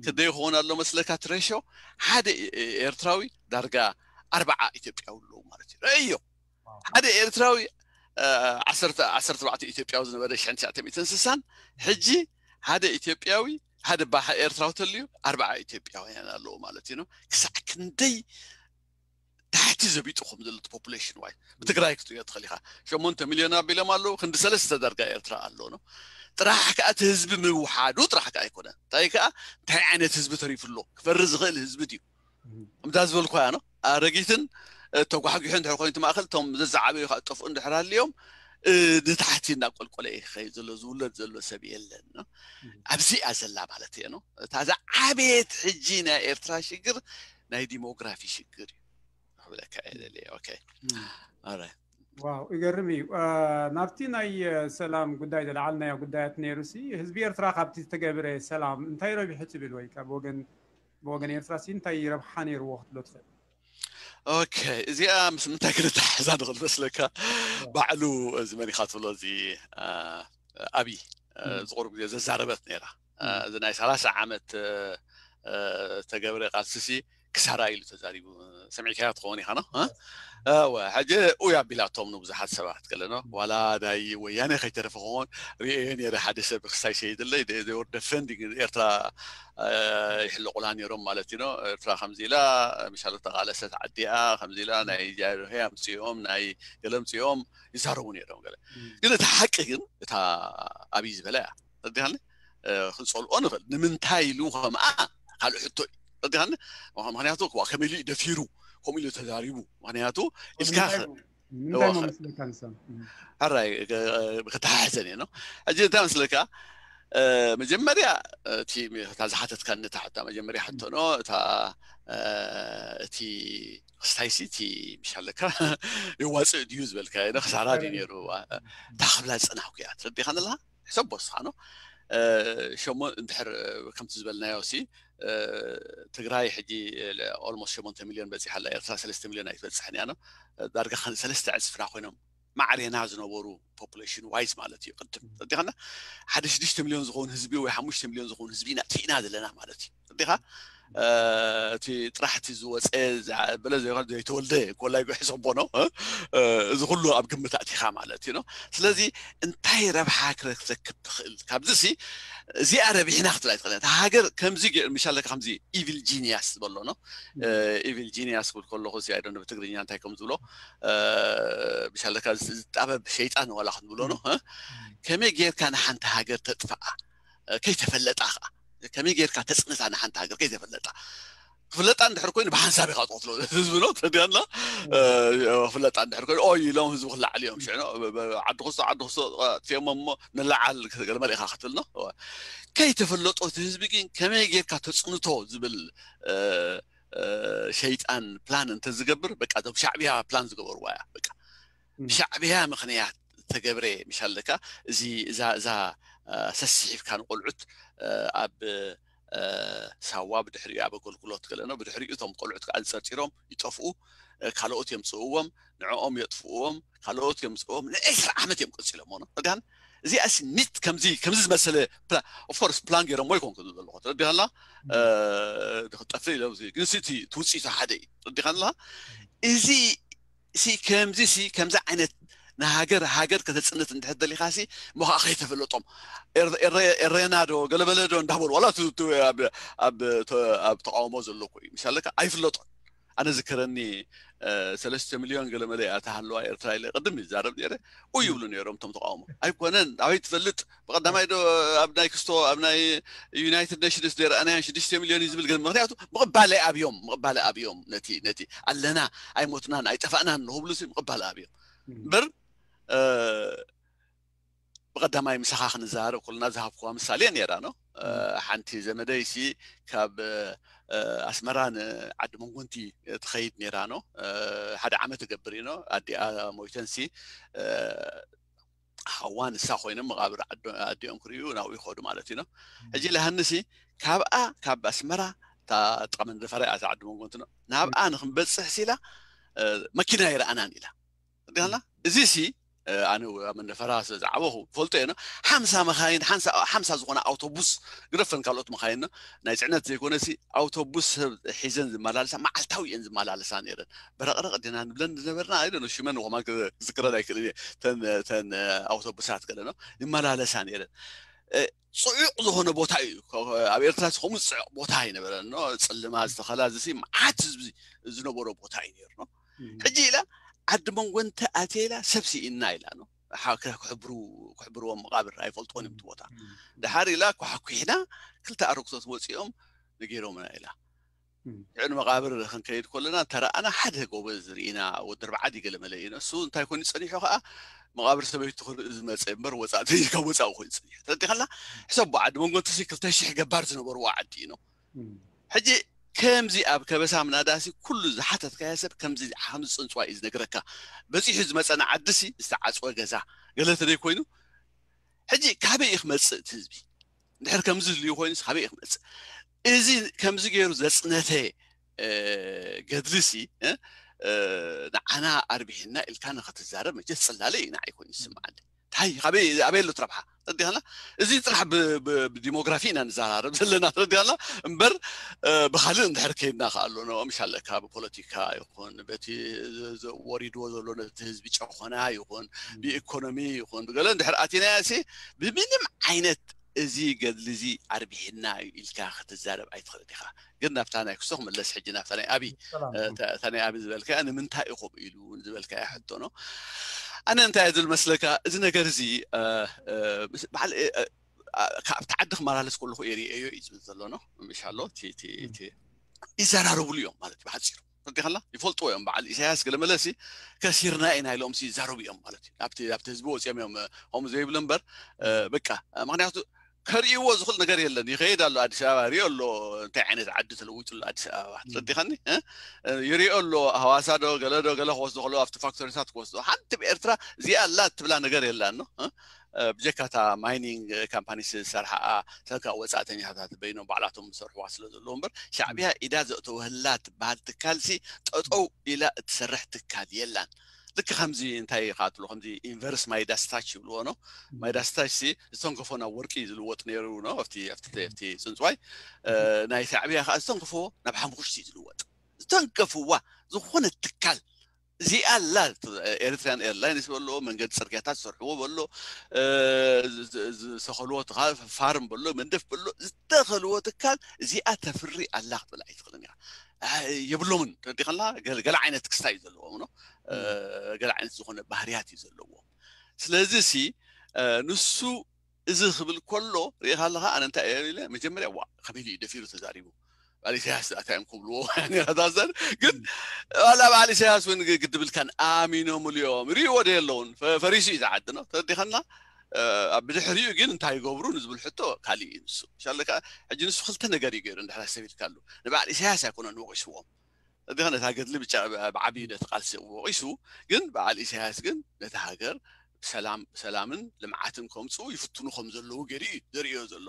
ክንደይ ይኸውን ኣሎ መስለካ እቲ ሬሾ? ሓደ ኤ-፣ ኤርትራዊ ዳርጋ ኣርባዓ ኢትዮጵያዊ ኣለዉ ማለት እዩ። ረእዮ። ሓደ ኤርትራዊ፣ እ፣ ዓሰርተ፣ ዓሰርተ ኣርባዕተ ኢትዮጵያዊ ዝነበረ ሽሕን ትሽዓተ ሚእትን ስሳን፣ ሕጂ ሓደ ኢትዮጵያዊ፣ ሓደ ባህ ኤርትራዊ ተልዩ ኣርባዓ ኢትዮጵያውያን ኣለዉ ማለት እዩ። ክሳዕ ክንደይ ታሕቲ ዘቢጡ ከም ዘሎ ፖፑሌሽን ዋይ ብትግራይ ክትሪኦ ትኽእል ኢኻ። ሸሞንተ ሚልዮን ኣቢሎም ኣለዉ፣ ክንዲ ሰለስተ ዳርጋ ኤርትራ ኣሎ ነው። ጥራሕ ከኣ እቲ ህዝቢ ምውሓዱ ጥራሕ ከኣ ኣይኮነን። እንታይ ከኣ እንታይ ዓይነት ህዝቢ ተሪፉ ኣሎ? ክፈሪ ዝኽእል ህዝቢ ድዩ? ከምታ ዝበልኳያ ነው። ኣረጊትን፣ እ፣ ተጓሕጒሑ እንድሕር ኮይኑ እቲ ማእከል፣ እቶም ዘዝዓበዩ ከኣ ጠፍኡ እንድሕር ሃልዮም፣ እ፣ ንታሕቲ እናቆልቆለ እዩ ክኸይድ ዘሎ፣ ዝውለድ ዘሎ ሰብ የለን ነው። ኣብዚኣ ዘላ ማለት እየ ነው። እታ ዝዓበየት ሕጂ ናይ ኤርትራ ሽግር ናይ ዲሞግራፊ ሽግር እዩ ክብለካ እየ ደልየ። ኦኬ። ኦራይት። ዋው፣ ይገርም እዩ። እ፣ ናብቲ ናይ፣ እ፣ ሰላም ጉዳይ ዝለዓልናዮ ጉዳያት ነይሩ ሲ፣ ህዝቢ ኤርትራ ካብቲ ዝተገብረ ሰላም እንታይ ረቢሑ ትብል ወይ ካብ ወገን፣ ብወገን ኤርትራ ሲ እንታይ ረብሓ ነይርዎ ክትብሎ ትኽእል? ኦኬ፣ እዚኣ ምስ ምንታይ ክንተሓሓዛ ንኽእል መስለካ? ባዕሉ እዚ መን ኢኻ ትብሎ፣ እዚ፣ እ፣ ኣብይ፣ እ፣ ዝቑሩብ ግዜ ዘዛረበት ነይራ። እ፣ እዚ ናይ ሰላሳ ዓመት፣ እ፣ እ፣ ተገብረ ቃልሲ ሲ ክሳራ ኢሉ ተዛሪቡ። ሰሚዕካዮ ትኸውን ኢኻ ነው? እ? እወ፣ ሕጂ ኡይ ኣቢላቶም ንብዙሓት ሰባት ገለ ነው። ዋላ ናይ ወያነ ከይተረፈ ክኸውን ርእየ ነይረ። ሓደ ሰብ ክስታይ ሰይድለይ፣ they were defending ኤርትራ፣ እ፣ ይሕለቑላ ነይሮም ማለት እዩ ነው። ኤርትራ ከምዚ ኢላ፣ ምሻሎ ተቓለሰት ዓዲኣ፣ ከምዚ ኢላ ናይ ጃርሄ ኣምፅኦም፣ ናይ ገለ ኣምፅኦም ይዛረቡ ነይሮም ገለ። ግን እቲ ሓቂ ግን እታ ኣብይ ዝበላ እያ። ተረዲኻኒ? እ፣ ክንጸልኦ ንኽእል። ንምንታይ ኢሉ ከምኣ ካልእ ሕቶ እዩ። ተረዲኻኒ? ምኽ-፣ ምኽንያቱ፣ ዋ፣ ከመይ ኢሉ እዩ ደፊሩ? ከምኡ ኢሉ ተዛሪቡ? ምኽንያቱ፣ ኢልካ ንምንታይ ኸ-፣ ሞ-፣ ንምንታይ እዋ፣ ሞ ኸ-፣ መስለካ ንሳ? እም። ሕራይ፣ እ፣ ከተሓሕዘን እየ ነው። ሕጂ እንታይ መስለካ? እ፣ መጀመርያ፣ እቲ፣ እታ ዝሓተትካኒ እታ ሕቶ፣ መጀመርያ ሕቶ ነው፣ እታ፣ እ፣ እቲ ክስታይሲ፣ እቲ ምሻለካ የዋፅእ ድዩ ዝበልካ፣ ነ ክሳራ ድዩ ነይሩ? እታ ክብላ ዝጸናሕኩ እያ። ተረዲኻኒ ኣለኻ? ሕሰቦ እስኻ ነው። እ፣ ሸሞ-፣ እንድሕር ከምቲ ዝበልናዮ ሲ፣ እ፣ ትግራይ ሕጂ ኦልሞስት ሸሞንተ ሚልዮን በፂሓ ኣላ፣ ኤርትራ ሰለስተ ሚልዮን ኣይትበፅሕን እያ ነው። ዳርጋ ከ-፣ ሰለስተ ዕፅፍና ኮይኖም ማዕሬና ዝነበሩ ፖፑሌሽን ዋይዝ ማለት እዩ። ቅድም ተረዲኻና ሓደ ሽዱሽተ ሚልዮን ዝኸውን ህዝቢ ወይ ሓሙሽተ ሚልዮን ዝኸውን ህዝቢ ኢና ጥፊእና ዘለና ማለት እዩ። ተረዲኻ? እ፣ እቲ ጥራሕ እቲ ዝወፀ፣ ዝዓበለ፣ ዘይኮነ ዘይተወልደ ኮላይ ጉሒ ሰቦ ነው። እ፣ እ፣ እዚ ኩሉ ኣብ ግምት ኣእቲኻ ማለት እዩ ነው። ስለዚ እንታይ ረብሓ ክረክብ ትኽእል? ካብዚ ሲ፣ እዚኣ ረቢሕና ክትብል ኣይትኽእልን። እታ ሃገር ከምዚ ገይሩ፣ ምሻለካ ከምዚ ኢቪል ጂኒያስ ዝበሎ ነው። እ፣ ኢቪል ጂኒያስ ክብል ከለኹ ሲ፣ ኣይ ዶንት ኖ ብትግርኛ እንታይ ከም ዝብሎ፣ እ፣ ምሻለካ ዝ-፣ ዝጣበብ ሸይጣን ዋላ ክንብሎ ነው። እ? ከመይ ጌርካ ንሓንቲ ሃገር ተጥፍኣ? እ፣ ከይተፈለጣ ኸዓ። ከመይ ጌርካ ተጽንታ ንሓንቲ ሃገር ከይተፈለጣ? ክፍለጣ እንድሕር ኮይኑ ብሓንሳብ ኢኻ ትቐትሎ ህዝቢ ነው፣ ተረዲኣና? እ፣ ክፍለጣ እንድሕር ኮይኑ፣ ኦይ ኢሎም ህዝቢ ክለዓል እዮም። ሽዑ ነው፣ ብ-፣ ብ-፣ ዓዲ ክስቶ፣ ዓዲ ክስቶ፣ ኣጥፊኦም እሞ ንለዓል ገለ መለ ኢኻ ክትብል ነው። ከይተፈለጦ እቲ ህዝቢ ግን ከመይ ጌርካ ተጽንቶ ዝብል፣ እ፣ እ፣ ሸይጣን ፕላን እንተዝገብር፣ በቃ፣ እዞም ሻዕብያ ፕላን ዝገበርዋ እያ። በቃ፣ ም። ብሻዕብያ ምኽንያት ተገብረ ምሻለካ፣ እዚ፣ እዛ፣ እዛ፣ እ፣ ሰሲሒፍካ ንቆልዑት፣ እ፣ ኣብ፣ እ፣ ሳዋ፣ ብድሕሪኡ ኣብ ኣገልግሎት ገለ ነው። ብድሕሪኡ እቶም ቆልዑት ከኣ ዝጸርጺሮም ይጠፍኡ፣ እ፣ ካልኦት የምጽእዎም፣ ንዕኦም የጥፍእዎም፣ ካልኦት የምጽእዎም፣ ንዒስራ ዓመት እዮም ቀጺሎሞ ነው። ተረዲኣኒ? እዚኣስ ኒት ከምዚ፣ ከምዚ ዝመሰለ ፕላ-፣ ኦፍ ኮርስ ፕላን ገይሮሞ ይኮንኩ ዝብል ዘለኹ። ተረዲኻና? እ፣ ንኽጠፍእ ኢሎም እዚ፣ ግን ሲ እቲ፣ እቲ ውጽኢቱ ሓደ እዩ። ተረዲኻና? እዚ ሲ ከምዚ ሲ፣ ከምዚ ዓይነት ንሃገር፣ ሃገር ከተጽንት እንድሕር ደሊኻ ሲ፣ እሞ ኸዓ ከይተፈለጦም። ኤር-፣ ኤረ-፣ ኤረና ዶ፣ ገለበለ ዶ እንዳበሉ፣ ዋላ እቲ፣ እቲ ኣብ፣ ኣብ፣ ተ-፣ ኣብ ተቃውሞ ዘሎ እኮ እዩ። ምሻለካ? ኣይፍለጦን። ኣነ ዝከረኒ፣ እ፣ ሰለስተ ሚልዮን ገለ መለ እያ ተሃለዋ ኤርትራ ኢለ ቅድም ይዛረብ ነይረ። ኡይ ይብሉ ነይሮም እቶም ተቃውሞ። ኣይኮነን፣ ኣበይ ትፈልጥ? ብቐዳማይ ዶ ኣብ ናይ ክስቶ፣ ኣብ ናይ ዩናይትድ ኔሽንስ ዘይረኣናዮን ሽዱሽተ ሚልዮን እዩ ዝብል ገለ፣ ምኽንያቱ ምቕባል ኣብዮም፣ ምቕባል ኣብዮም ነቲ፣ ነቲ ኣለና፣ ኣይሞትናን፣ ኣይጠፋእናን ንኽብሉ ሲ ምቕባል ኣብዮም። ም። እምበር፣ እ፣ ብቐዳማይ ምሳኻ ክንዘራረብ ከለና ዝሃብኩዋ ምሳሌ ነይራ ነው። እ፣ ም። ሓንቲ ዘመደይ ሲ ካብ፣ እ፣ ኣስመራ ንዓዲ መንጎንቲ ትኸይድ ነይራ ነው። እ፣ ሓደ ዓመት ትገብር እዩ ነው። ኣዲኣ ሞይተን ሲ፣ እ፣ ሓዋ ንሳ ኮይኖም መቓብር ዓዶ-፣ ኣዲኦም ክርእዩ ናብኡ ይኸዱ ማለት እዩ ነው። ም። ሕጂ ለሃኒ ሲ ካብኣ፣ ካብ ኣስመራ፣ እታ ጥቓ መንደፈራ እያ፣ እታ ዓዲ መንጎንቲ ነው። ናብኣ ም። ንክንበጽሕ ሲ ኢላ፣ እ፣ መኪና ኣይረኣናን ኢላ። ተረዲኻና? እዚ ሲ ኣነ ኣብ መንደፈራ ስለ ዝዓበኹ ፈልጦ እየ። ሓምሳ መኻይን ሓምሳ ዝኾነ ኣውቶቡስ፣ ግደፈን ካልኦት መኻይን ናይ ፅዕነት ዘይኮነሲ ኣውቶቡስ ሰብ ሒዘን ዝመላለሳ መዓልታዊ እየን ዝመላለሳ ነይረን። በረቕረቕ ዲና ንብለን ዝነበርና ኣይደነ ሽመን ኾማ ክዝክረን ኣይክእል እየ። ተን ኣውቶቡሳት ገለ ነው ይመላለሳ ነይረን። ፅዑቕ ዝኾነ ቦታ እዩ። ኣብ ኤርትራ ከምኡ ዝፅዕቕ ቦታ ኣይነበረን። ፅልማ ዝተኸላ ዝሲ መዓት ህዝቢ ዝነበሮ ቦታ እዩ ነይሩ። ሕጂ ኢላ ዓዲ መንጎ እንተ ኣትየ ኢላ ሰብ ስኢና ኢላ ነው። ክሕብርዎም መቃብር ኣይፈልጥዎን እዮም እቲ ቦታ። ድሓር ኢላ ኳሕኩሕና ክልተ ኣረግቶት ወፂኦም ነጊሮምና ኢላ። ሽዑ ንመቃብር ክንከይድ ከለና ተረኣና ሓደ ጎበዝ ርኢና ወዲ ኣርባዓ ድዩ ገለ መለ እዩ። እሱ እንታይ ኮይኑ ፀኒሑ ከዓ መቃብር ሰበይቱ ክርኢ ዝመፀ እምበር ወፃእተኛ ካብ ወፃኢ ኮይኑ ፀኒሑ። ተረዲኻላ? ሕሰቦ ዓዲ መንጎ እንተሲ ክልተ ሽሕ ገባር ዝነበርዎ ዓዲ እዩ ነው። ሕጂ ከምዚ ኣብ ከበሳ ምናዳሲ ኩሉ ዝሓተትካዮ ሰብ ከምዚ ከምዚ ፅንፅዋ እዩ ዝነግረካ። በፂሑ ዝመፀና ዓድሲ ዝተዓፅወ ገዛ ገለ ተደይ ኮይኑ ሕጂ ካበይ እዩ ክመፅእ እቲ ህዝቢ? እንድሕር ከምዚ ዝልዩ ኮይኑስ ካበይ እዩ ክመፅእ? እዚ ከምዚ ገይሩ ዘፅነተ ገድልሲ ንዓና ኣርቢሕና ኢልካ ንኸትዛረብ መቸስ ፅላለ እዩ ንዓይ ኮይኑ ዝስምዓኒ። እንታይ ካበይ ኣበይ ኣሎ ትረብሓ? ተዲኸና እዚ ጥራሕ ብዲሞግራፊ ኢና ንዘራረብ ዘለና ተዲኸና እምበር ብካልእ እንድሕር ከይድና ከኣሎ ምሽ ኣለካ ብፖለቲካ ይኹን በቲ ወሪድዎ ዘሎ ነቲ ህዝቢ ጨኾና ይኹን ብኢኮኖሚ ይኹን ብገለ እንድሕር ኣቲናያ ሲ ብምንም ዓይነት እዚ ገድሊ እዚ ኣርቢሕና እዩ ኢልካ ክትዛረብ ኣይትኽእል ኢኻ። ግን ናብታ ናይ ክስቶ ክምለስ ሕጂ ናብታ ናይ ኣቢ እታ ናይ ኣቢ ዝበልካያ ንምንታይ ኢኹም ኢሉ ዝበልካያ ሕቶ ነው። ኣነ እንታይ ዝብል መስለካ እዚ ነገር እዚ በዓል ካብቲ ዓዲ ክመላለስ ከለኹ የርእዮ እዩ ዝብል ዘሎ ነው። ምሻሎ ይዘራረብሉ እዮም ማለት እዩ ብሓፂሩ። ተረዲኸላ ይፈልጥዎ እዮም። በዓል ኢሳያስ ገለ መለሲ ከሲርና ኢና ኢሎም ይዛረቡ እዮም ማለት እዩ። ኣብቲ ኣብቲ ህዝቢ ወፂኦም እዮም ከምኡ ዘይብሉ እምበር በቃ ምክንያቱ ከርእይዎ ዝኽእል ነገር የለን። ይኸይድ ኣሎ ኣዲስ ኣበባ ሪኦ ኣሎ እንታይ ዓይነት ዓዲ ተለዊጡ ኣሎ ኣዲስ ኣበባ ተረዲኸኒ። ይሪኦ ኣሎ ሃዋሳ ዶ ገለ ዶ ገለ ክወስዶ ከለዉ ኣብቲ ፋክቶሪታት ክወስዶ ሓንቲ ብኤርትራ እዚኣ ኣላ እትብላ ነገር የላን። ብጀካታ ማይኒንግ ካምፓኒ ዝሰርሓ ተካ ወፃእተኛታት በይኖም ባዕላቶም ዝሰርሕዋ ስለ ዘለዎ እምበር ሻዕብያ ኢዳ ዘእተወህላ ትበሃል ትካልሲ ጠጠው ኢላ እትሰርሕ ትካል የላን። ልክ ከምዚ እንታይ ይካትሎ ከምዚ ኢንቨርስ ማይዳስ ታች ይብልዎ ነው። ማይዳስ ታች ሲ ዝተንከፎ ናብ ወርቂ ዝልወጥ ነይሩ ነው ኣብቲ ኣብቲ ኣብቲ ፅንፅዋይ ናይ ሻዕብያ ከዓ ዝተንከፎ ናብ ሓሙኽሽቲ ዝልወጥ ዝተንከፍዋ ዝኾነ ትካል እዚኣ ኣላ። ኤርትራን ኤርላይንስ በሎ መንገዲ ፅርግያታት ዝሰርሕዎ በሎ ዝሰኸልዎ ፋርም በሎ መንደፍ በሎ ዝተኸልዎ ትካል እዚኣ ተፍሪ ኣላ ክትብል ኣይትኽእልን ኢኻ። የብሎምን ተረዲኸላ። ገለ ዓይነት ክስታይ እዩ ዘለዎም ነው። ገለ ዓይነት ዝኾነ ባህርያት እዩ ዘለዎም። ስለዚ ሲ ንሱ እዚ ክብል ከሎ ርኢኻ ኣለኻ። ኣነ እንታይ እየ ኢለ መጀመርያ ዋ ከመይ እዩ ደፊሩ ተዛሪቡ በዓል ኢሳያስ ኣታ እዮም ክብልዎ ነራታዘን ግን ዋላ በዓል ኢሳያስ እውን ግድብልካን ኣሚኖምሉ እዮም ርእይዎ ዶ የለውን ፈሪሱ እዩ ዝዓዲ ነው ተረዲኸና። ኣብ ብድሕሪኡ ግን እንታይ ይገብሩ ንዝብል ሕቶ ካሊእ እዩ ንሱ ሻለ ከዓ ሕጂ ንሱ ክልተ ነገር እዩ ገይሩ እንድሕር ኣስተቢልካሉ ንበዓል ኢሳያስ ኣይኮነን ወቂስዎም። እንዲኸ ነታ ገድሊ ብቻ ብዓብዩ ነቲ ቃልሲ ወቂሱ ግን በዓል ኢሳያስ ግን ነቲ ሃገር ሰላም ሰላምን ልምዓትን ከምፅኡ ይፍትኑ ከም ዘለዉ ገይሩ እዩ ዘርእዮ ዘሎ።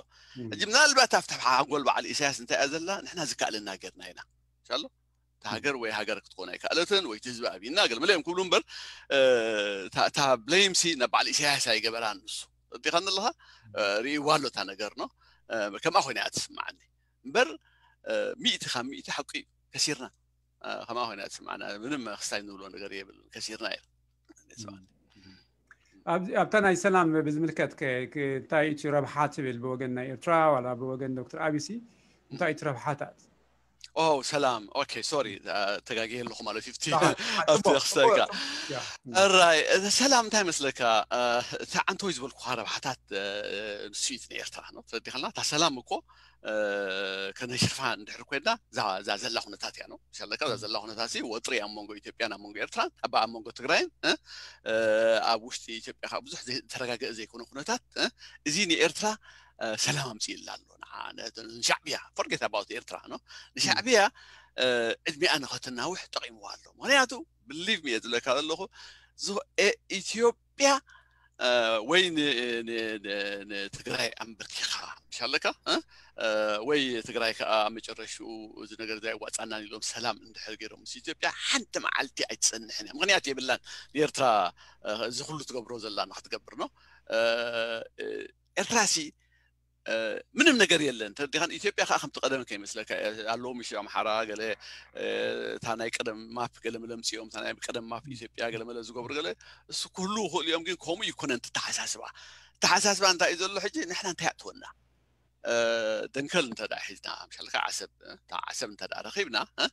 ሕጂ ምናልባት ኣብቲ ሓንጎል በዓል ኢሳያስ እንታይ እያ ዘላ ንሕና ዝከኣለና ገርና ኢና ሻሎ እታ ሃገር ወይ ሃገር ክትኮን ኣይከኣለትን ወይ ህዝቢ ኣብይና ገለ መለ እዮም ክብሉ እምበር እታ ብለይምሲ ናብ በዓል ኢሳያስ ኣይገበራን ንሱ እዲኻ ኣለኻ ርእይዋ ኣሎ እታ ነገር ነው። ከምኣ ኮይና እያ ትስምዓኒ እምበር ሚእቲ ካብ ሚእቲ ሓቂ እዩ ከሲርና ከምኣ ኮይና እያ ትስምዓና ምንም ክስታይ ንብሎ ነገር የብልን ከሲርና እዩ ኣብታ ናይ ሰላም ብዝምልከት እንታይ እቲ ረብሓ ትብል ብወገን ናይ ኤርትራ ዋላ ብወገን ዶክተር ኣቢሲ እንታይ እቲ ረብሓታት ኦ ሰላም ኦኬ ሶሪ ተጋጊየ ኣለኹ ማለት እዩ ኣብቲ ክስታይካ ራይ ሰላም እንታይ መስለካ እቲ ዓንተወይ ዝበልኩካ ረብሓታት ንስዩት ንኤርትራ ነው ተረዲኸልና እታ ሰላም እኮ ከነሽርፋ እንድሕር ኮይና እዛ ዘላ ኩነታት እያ ነው ሻለካ እዛ ዘላ ኩነታት ወጥሪ ኣብ መንጎ ኢትዮጵያን ኣብ መንጎ ኤርትራን ኣብ ኣብ መንጎ ትግራይን ኣብ ውሽጢ ኢትዮጵያ ካብ ብዙሕ ተረጋገ ዘይኮነ ኩነታት እዚ ንኤርትራ ሰላም ኣምፅእላ ኣሎ ንሻዕብያ forget about ኤርትራ ነው ንሻዕብያ ዕድሚኣ ንኸትናውሕ ጠቂምዋ ኣሎ ምክንያቱ believe me እየ ዝብለካ ዘለኹ ኢትዮጵያ ወይ ንትግራይ ኣንበርኪኻ ኣለካ እ? እ፣ ወይ ትግራይ ከዓ መጨረሽኡ እዚ ነገር እዚ ኣይዋፃናን ኢሎም ሰላም እንድሕር ገይሮም ምስ ኢትዮጵያ ሓንቲ መዓልቲ ኣይትፀንሕን እያ። ምክንያት የብላን ንኤርትራ እ፣ እዚ ኩሉ ትገብሮ ዘላ ንክትገብር ነው። እ፣ እ፣ ኤርትራ ሲ እ፣ ምንም ነገር የለን። ተረዲኻን? ኢትዮጵያ ከዓ ከምቲ ቀደም ከይመስለካ እያ። ኣለዎም ምሽ ኣምሓራ ገለ እ፣ እታ ናይ ቀደም ማፕ ገለ መለምፂኦም እታ ናይ ቀደም ማፕ ኢትዮጵያ ገለ መለ ዝገብሩ ገለ እሱ ክህሉ ይኽእሉ እዮም። ግን ከምኡ ይኮነን ተተሓሳስባ ተሓሳስባ እንታይ እዩ ዘሎ ሕጂ ንሕና እንታይ ኣትወና እ፣ ደንከል እንተ ደኣ ሒዝና ምሻልካ ዓሰብ እ፣ እታ ዓሰብ እንተ ደኣ ረኺብና እ፣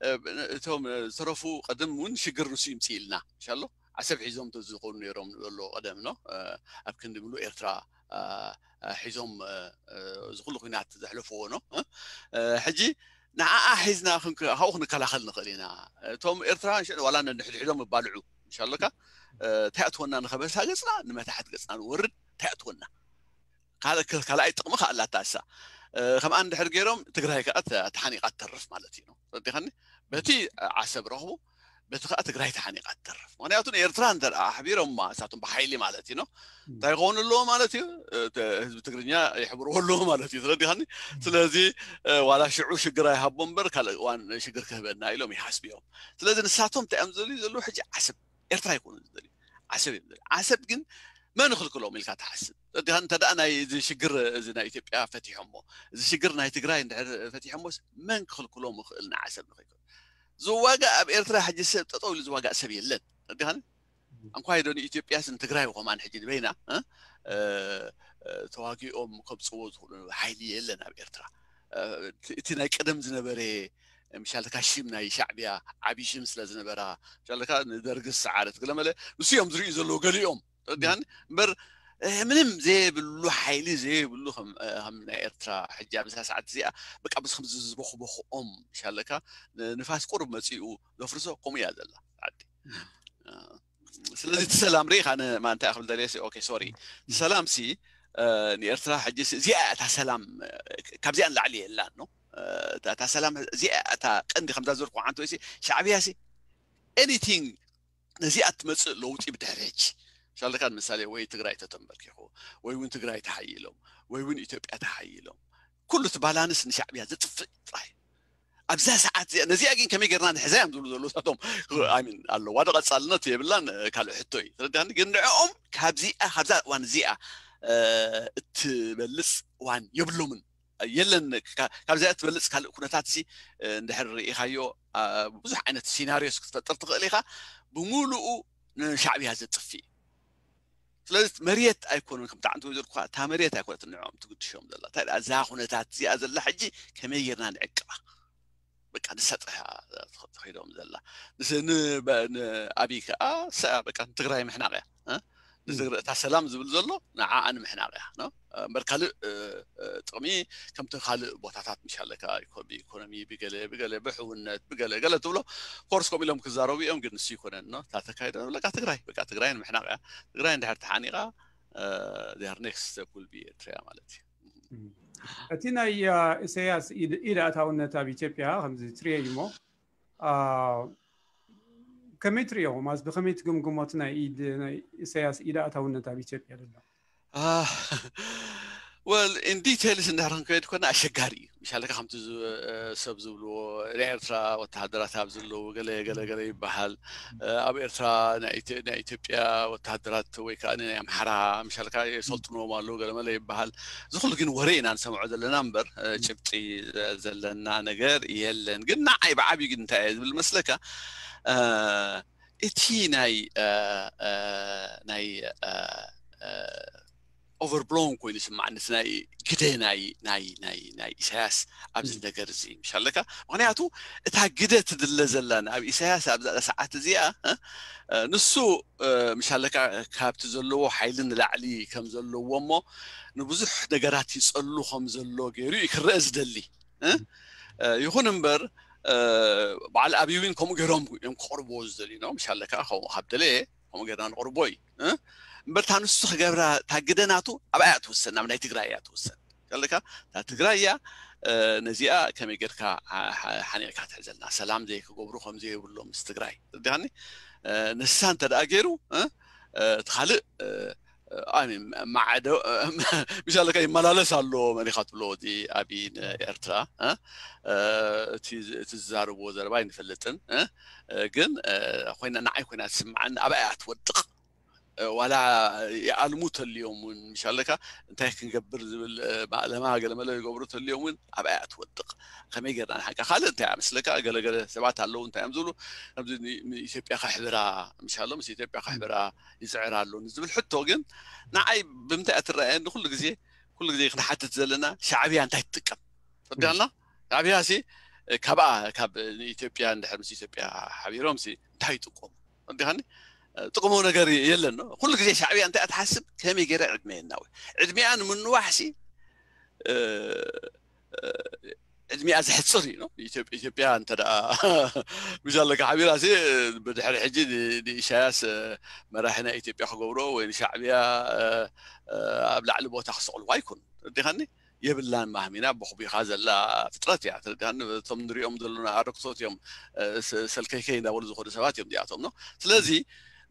እ፣ እቶም ዝተረፉ ቀደም እውን ሽግር ንሱ ይምፅእ ኢልና ምሻሎ ዓሰብ ሒዞም ተዝኾኑ ነይሮም ንበሎ ቀደም ኖ እ፣ ኣብ ክንዲ ምሉእ ኤርትራ እ፣ እ፣ ሒዞም እ፣ እ፣ እዚ ኩሉ ኩናት ዘሕለፍዎ ኖ እ፣ እ፣ ሕጂ ንዓኣ ሒዝና ክንክ- ካብኡ ክንከላኸል ንኽእል ኢና። እቶም ኤርትራውያን ሽዑ ዋላ ነንሕድሕዶም ይባልዑ ምሻለካ እ፣ እንታይ ኣትወና ንኸበሳ ገፅና ንመታሕት ገፅና ንወርድ እንታይ ኣትወና ካልእ ካልኣይ ጥቕሚ ከኣ ኣላታ እሳ ከምኣ እንድሕር ገይሮም ትግራይ ከኣ ተሓኒቃ ትተርፍ ማለት እዩ ተረዲኻኒ በቲ ዓሰብ ረኽቡ በቲ ከኣ ትግራይ ተሓኒቃ ትተርፍ ምክንያቱ ንኤርትራ እንተ ኣሕቢሮማ እሳቶም ብሓይሊ ማለት እዩ እንታይ ክኾኑ ኣለዎ ማለት እዩ ህዝቢ ትግርኛ ይሕብርዎ ኣለዎ ማለት እዩ ተረዲኻኒ ስለዚ ዋላ ሽዑ ሽግር ኣይሃቦ እምበር ካልእ እዋን ሽግር ክህበና ኢሎም ይሓስቡ እዮም ስለዚ ንሳቶም እንታይ እዮም ዝደልዩ ዘለዉ ሕጂ ዓሰብ ኤርትራ ኣይኮኑ ዝደልዩ ዓሰብ እዮም ዝደልዩ ዓሰብ ግን መን ይኽልክሎም ኢልካ ትሓስብ እንተ ደኣ ናይ እዚ ሽግር እዚ ናይ ኢትዮጵያ ፈቲሖሞ እዚ ሽግር ናይ ትግራይ እንድሕር ፈቲሖሞስ መን ክኽልክሎም ይኽእል ንዓሰብ ንኸይኮን ዝዋጋእ ኣብ ኤርትራ ሕጂ ሰብ ጠጠው ኢሉ ዝዋጋእ ሰብ የለን እንዲኻን እንኳይ ዶ ንኢትዮጵያስ ንትግራይ ኮማን ሕጂ ንበይና ተዋጊኦም ከብፅዎ ዝኽእሉ ሓይሊ የለን ኣብ ኤርትራ እቲ ናይ ቀደም ዝነበረ ምሻልካ ሽም ናይ ሻዕብያ ዓብዪ ሽም ስለ ዝነበራ ምሻልካ ንደርጊ ዝሰዓረት ገለመለ ንሱ እዮም ዝርእዩ ዘለዉ ገሊኦም ተረዲኻኒ እምበር ምንም ዘይብሉ ሓይሊ ዘይብሉ ከም ናይ ኤርትራ ሕጂ ኣብዛ ሰዓት እዚኣ በቃ ምስ ከምዚ ዝበኽበኽኦም ምሻለካ ንፋስ ቁሩብ መፂኡ ዘፍርሶ ከምኡ እያ ዘላ ዓዲ ስለዚ እቲ ሰላም ርኢኻ ንማንታይ ክብል ደልየ ኦኬ ሶሪ ሰላም ሲ ንኤርትራ ሕጂ እዚኣ እታ ሰላም ካብዚኣ ንላዕሊ የላን ነው እታ ሰላም እዚኣ እታ ቀንዲ ከምዛ ዝበልኩ ዓንተ ወይሲ ሻዕብያ ሲ anything ነዚኣ ትመፅእ ለውጢ ብድሕሪ ሕጂ ሻለካ ንምሳሌ ወይ ትግራይ ተተንበርኪኹ ወይ እውን ትግራይ ተሓይሎም ወይ እውን ኢትዮጵያ ተሓይሎም ኩሉ እቲ ባላንስ ንሻዕብያ ዘጥፍእ ጥራይ ኣብዛ ሰዓት እዚኣ ነዚኣ ግን ከመይ ጌርና ንሕዛ እዮም ዝብሉ ዘለዉ ሳቶም ሚን ኣለዋ ዶ ቀፃልነት የብላን ካልእ ሕቶ እዩ ተረዳኒ ግን ንዕኦም ካብዚኣ ካብዛ እዋን እዚኣ እትበልፅ እዋን የብሎምን የለን ካብዚኣ ትበልፅ ካልእ ኩነታት ሲ እንድሕር ርኢኻዮ ብዙሕ ዓይነት ሲናሪዮስ ክትፈጥር ትኽእል ኢኻ ብምሉኡ ንሻዕብያ ዘጥፊ እዩ ስለዚ መሬት ኣይኮኑን ከም ጣዕንቲ ወይዘር እኳ እታ መሬት ኣይኮነት ንዕኦም ትግድሾም ዘላ እንታይ እዛ ኩነታት እዚኣ ዘላ ሕጂ ከመይ ጌርና ንዕቅባ በቃ ንሳ ጥራሕ ትኸይዶም ዘላ ንኣብይ ከዓ ሰ በቃ ንትግራይ ምሕናቅ እያ እታ ሰላም ዝብል ዘሎ ንዓኣ ንምሕናቅ እያ እምበር ካልእ ጥቕሚ ከምቲ ካልእ ቦታታት ምሻለካ ብኢኮኖሚ ብገለ ብገለ ብሕውነት ብገለ ገለ ትብሎ ኮርስ ከም ኢሎም ክዛረቡ እዮም ግን ንሱ ይኮነን እታ ተካይደ በቃ ትግራይ በቃ ትግራይ ንምሕናቅ እያ ትግራይ እንድሕር ተሓኒቃ ር ኔክስት ስቴፕ ል ቢ ኤርትራ ማለት እዩ እቲ ናይ ኢሳያስ ኢድ ኣእታውነት ኣብ ኢትዮጵያ ከምዚ ትሪኦ እዩ ሞ ከመይ ትሪኦ ማለት ብከመይ ትግምግሞ እቲ ናይ ኢድ ናይ ኢሳያስ ኢድ ኣእታውነት ኣብ ኢትዮጵያ ዘሎ well in details እንድሕር ክንከይድ ኮና ኣሸጋሪ እዩ ምሻለካ ከምቲ ሰብ ዝብልዎ ናይ ኤርትራ ወተሃደራት ኣብ ዘለዉ ገለ ገለ ገለ ይበሃል ኣብ ኤርትራ ናይ ኢትዮጵያ ወተሃደራት ወይ ከዓ ናይ ኣምሓራ ምሻልካ የሰልጥንዎም ኣለዉ ገለመለ ይበሃል እዚ ኩሉ ግን ወረ ኢና ንሰምዖ ዘለና እምበር ጭብጢ ዘለና ነገር የለን ግን ንዓይ ብዓብዩ ግን እንታይ እየ ዝብል መስለካ እቲ ናይ ናይ overblown ኮይኑ ይስማዓኒ እቲ ናይ ግደ ናይ ናይ ናይ ናይ ኢሳያስ ኣብዚ ነገር እዚ ምሻለካ ምክንያቱ እታ ግደ ትድለ ዘላ ኣብ ኢሳያስ ኣብዛ ሰዓት እዚኣ ንሱ ምሻለካ ካብቲ ዘለዎ ሓይሊ ንላዕሊ ከም ዘለዎ እሞ ንብዙሕ ነገራት ይፀሉ ከም ዘሎ ገይሩ እዩ ክረአ ዝደሊ ይኹን እምበር በዓል ኣብይ እውን ከምኡ ገይሮም እዮም ክቐርብዎ ዝደልዩ ነው ምሻለካ ከምኡ ካብ ደለየ ከምኡ ጌርና ንቕርቦ እዩ እምበር እታ ንሱ ክገብራ እታ ግደ ናቱ ኣብኣ እያ ትውሰን ናብ ናይ ትግራይ እያ ትውሰን ከለካ እታ ትግራይ እያ ነዚኣ ከመይ ጌርካ ሓኒቕካ ትሕዘልና ሰላም ዘይክገብሩ ከም ዘይብሎም ምስ ትግራይ ርዲኻኒ ንሳ እንተ ደኣ ገይሩ እቲ ካልእ ማዕዶ ምሻለካ ይመላለስ ኣሎ። መን ኢኻ ትብሎ እቲ ኣብይ ንኤርትራ እቲ ዝዛረብዎ ዘረባ ኣይንፈልጥን፣ ግን ኮይና ንዓይ ኮይና ትስምዓኒ። ኣብኣ እያ ትወድቕ። ዋላ ይኣልሙ ተልዮም እውን ምሻለካ እንታይ ክንገብር ዝብል ማእለማ ገለመለ ይገብሩ ተልዮም እውን ኣብኣ እያ ትወድቕ። ከመይ ጌርና ንሓንካ ካልእ እንታይ እያ መስለካ? ገለገለ ሰባት ኣለዉ እንታይ እዮም ዝብሉ ከምዚ ንኢትዮጵያ ከሕብራ ምሻሎ ምስ ኢትዮጵያ ከሕብራ ይፅዕር ኣሎ ንዝብል ሕቶ ግን ንዓይ ብምንታይ እያ ትረኣየኒ? ኩሉ ግዜ ኩሉ ግዜ ክንሓትት ዘለና ሻዕብያ እንታይ ትጥቀም ፈዲልና? ሻዕብያ ሲ ካብኣ ካብ ንኢትዮጵያ እንድሕር ምስ ኢትዮጵያ ሓቢሮም ሲ እንታይ ይጥቀሙ? ፈዲኻኒ ጥቕሙ ነገር የለን። ኩሉ ግዜ ሻዕብያ እንታይ እያ ትሓስብ? ከመይ ገይረ ዕድመ የናውሕ? ዕድሚኣ ንምንዋሕ ሲ ዕድሚኣ ዘሕፅር እዩ ነው። ኢትዮጵያ እንተ ደኣ ምሻለካ ሓቢራ ሲ ብድሕሪ ሕጂ ንኢሳያስ መራሒ ናይ ኢትዮጵያ ክገብሮ ወይ ንሻዕብያ ኣብ ላዕሊ ቦታ ክሰቕልዋ ኣይኮኑ። ተረዲኻኒ? የብላን ማህሚና ቦኽቢኻ ዘላ ፍጥረት እያ። ተረዲኻኒ? እቶም ንሪኦም ዘለና ኣረክሶት እዮም ሰልከይከይ እንዳበሉ ዝኾኑ ሰባት እዮም እዚኣቶም ነው። ስለዚ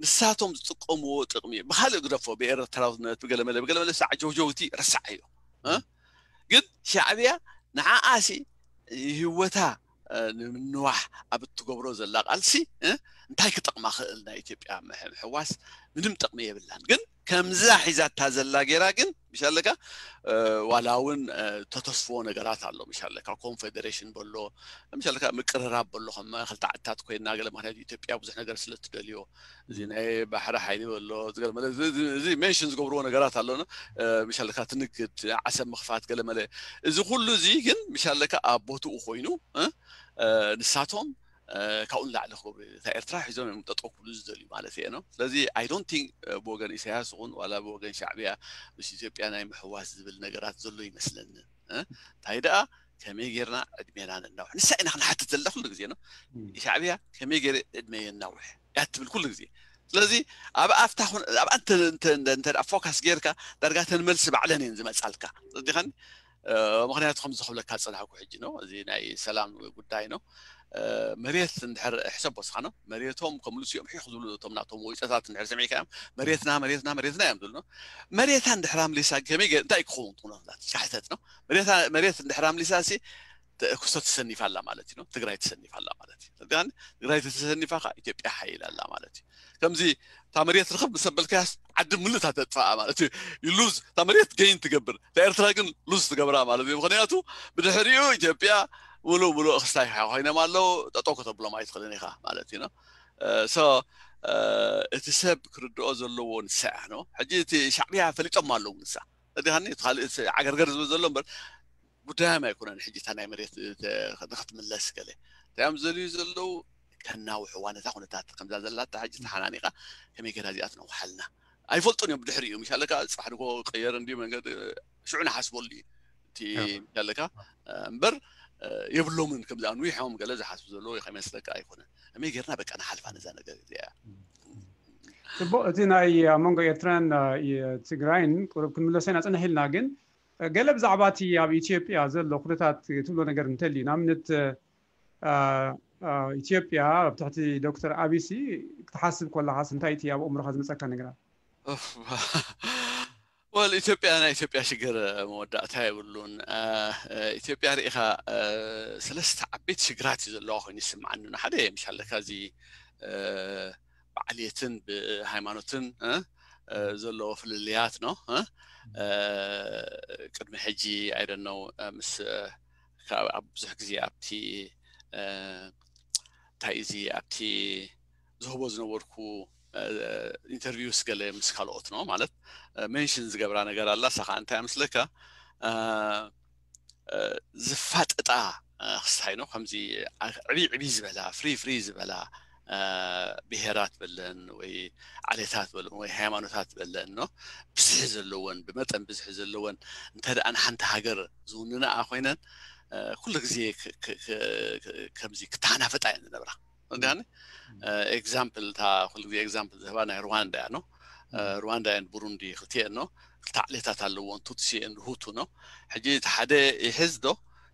ንሳቶም ዝጥቀምዎ ጥቕሚ ብካልእ ግደፎ ብኤርትራውነት ብገለመለ ብገለመለ ሰዓ ጀውጀውቲ ረሳዓዮ። ግን ሻዕብያ ንዓኣሲ ህይወታ ንምንዋሕ ኣብ እትገብሮ ዘላ ቃልሲ እንታይ ክጠቕማ ክእል ናይ ኢትዮጵያ ምሕዋስ ምንም ጥቕሚ የብላን። ግን ከምዛ ሒዛታ ዘላ ጌራ ግን ምሻለካ ዋላ እውን ተተስፍዎ ነገራት ኣሎ። ምሻለካ ኮንፌዴሬሽን በሎ ምሻለካ ምቅርራብ በሎ ከም ክልተ ዓድታት ኮይና ገለ ምክንያቱ ኢትዮጵያ ብዙሕ ነገር ስለ ትደልዮ እዚ ናይ ባሕሪ ሓይሊ በሎ እዚ ሜንሽን ዝገብርዎ ነገራት ኣሎ። ምሻለካ ትንግድ ዓሰብ ምኽፋት ገለመለ እዚ ኩሉ እዚ ግን ምሻለካ ኣብ ቦትኡ ኮይኑ ንሳቶም ካብኡ ንላዕሊ ክገብሩ እታ ኤርትራ ሒዞም እዮም ጠጠው ክብሉ ዝደልዩ ማለት እየ ነው። ስለዚ I don't think ብወገን ኢሳያስ ይኹን ዋላ ብወገን ሻዕብያ ምስ ኢትዮጵያ ናይ ምሕዋስ ዝብል ነገራት ዘሎ ይመስለኒ። እንታይ ደኣ ከመይ ጌርና ዕድሜና ነናውሕ ንሳ ኢና ክንሓትት ዘለና ኩሉ ግዜ ነው። ሻዕብያ ከመይ ገይረ ዕድመ የናውሕ እያ ትብል ኩሉ ግዜ። ስለዚ ኣብ ኣብታ ኣብኣ እንተ ፎካስ ጌርካ ዳርጋ ተን መልሲ ባዕለን እየን ዝመጻልካ። ዲኻን ምክንያቱ ከም ዝኽብለካ ዝፀናሕኩ ሕጂ ነው። እዚ ናይ ሰላም ጉዳይ ነው። መሬት እንድሕር ሕሰብ ወስኻ ነው መሬቶም ከምልሱ እዮም ሒኽ ዝብሉ እቶም ናቶም ወይፀታት እንድሕር ሰሚዕካ እዮም መሬትና መሬትና መሬትና እዮም ዝብሉ ነው። መሬታ እንድሕር ኣምሊሳ ከመይ እንታይ ክኸውን ትኾኖ ካሕተት ነው። መሬት እንድሕር ኣምሊሳ ሲ ክሶ ተሰኒፋ ኣላ ማለት እዩ። ትግራይ ተሰኒፋ ኣላ ማለት እዩ። ትግራይ ተሰኒፋ ከዓ ኢትዮጵያ ሓይል ኣላ ማለት እዩ። ከምዚ እታ መሬት ርኽብ ምስ ኣበልካያስ ዓዲ ምሉእ እታ ተጥፋኣ ማለት እዩ። ሉዝ እታ መሬት ገይን ትገብር፣ እታ ኤርትራ ግን ሉዝ ትገብራ ማለት እዩ። ምክንያቱ ብድሕሪኡ ኢትዮጵያ ሙሉእ ሙሉእ ክስታይ ኮይኖም ኣለዉ። ጠጠው ከተብሎም ኣይትኽእልን ኢኻ ማለት እዩ። ሶ እቲ ሰብ ክርድኦ ዘለዎ ንሳ እያ ነው። ሕጂ እቲ ሻዕብያ ፈሊጦም ኣለዉ ንሳ እቲ ካልእ ዓገርገር ዝብል ዘሎ እምበር ጉዳዮም ኣይኮነን። ሕጂ እታ ናይ መሬት ንክትምለስ ገለ እንታይ እዮም ዘልዩ ዘለዉ ከናውሕዋ ነታ ኩነታት ከምዛ ዘላታ ሕጂ ተሓናኒቃ ከመይ ገይራ እዚኣ ትነውሓልና ኣይፈልጡን እዮም። ብድሕሪ እዩ ምሻለካ ፅባሕ ድኮ ቀየር እንዲ መንገዲ ሽዑ ንሓስበሉ እዩ እቲ ምሻለካ እምበር የብሎምን። ከምዚ ኣንዊሖም ገለ ዝሓስቡ ዘለዉ ከይመስለካ ኣይኮነን። ከመይ ጌርና በቃ ንሓልፋ ነዛ ነገር እዚኣ። ጽቡቅ። እቲ ናይ ኣብ መንጎ ኤርትራን ትግራይን ቁሩብ ክንምለሶ ኢና ጽንሕ ኢልና፣ ግን ገለ ብዛዕባ እቲ ኣብ ኢትዮጵያ ዘሎ ኩነታት ትብሎ ነገር እንተልዩ ንኣብነት ኢትዮጵያ ኣብ ትሕቲ ዶክተር ኣቢሲ ክትሓስብ ከለኻስ እንታይ እቲ ኣብ ኣእምሮኻ ዝመጸካ ነገራት? ወል ኢትዮጵያ ናይ ኢትዮጵያ ሽግር መወዳእታ የብሉን። ኢትዮጵያ ርኢኻ ሰለስተ ዓበይቲ ሽግራት እዩ ዘለዋ ኮይኑ ይስምዓኒ። ሓደ ምሻለካ እዚ ብዓልየትን ብሃይማኖትን ዘለዎ ፍልልያት ነው። ቅድሚ ሕጂ ኣይደነው ምስ ኣብ ብዙሕ ግዜ ኣብቲ እንታይ እዚ ኣብቲ ዝህቦ ዝነበርኩ ኢንተርቪውስ ገለ ምስ ካልኦት ነው ማለት ሜንሽን ዝገብራ ነገር ኣላ። ሳኻ እንታይ ምስለካ ዝፋጠጣ ክስታይ ነው። ከምዚ ዕብይ ዕብይ ዝበላ ፍሪ ፍሪ ዝበላ ብሄራት በለን ወይ ዓሌታት በለን ወይ ሃይማኖታት በለን ነው ብዝሒ ዘለወን ብመጠን ብዝሒ ዘለወን እንተ ደኣ ንሓንቲ ሃገር ዝውንንኣ ኮይነን ኩሉ ግዜ ከምዚ ክተሓናፈጣ እየን ዝነብራ። እንዲያኒ ኤግዛምፕል እታ ኩሉ ግዜ ኤግዛምፕል ዝህባ ናይ ሩዋንዳ እያ ነው። ሩዋንዳ እየን ብሩንዲ ክልቲኤን ነው። ክልተ ዓሌታት ኣለዎን ቱትሲ እየን ሁቱ ነው። ሕጂ እቲ ሓደ ይሕዝ ዶ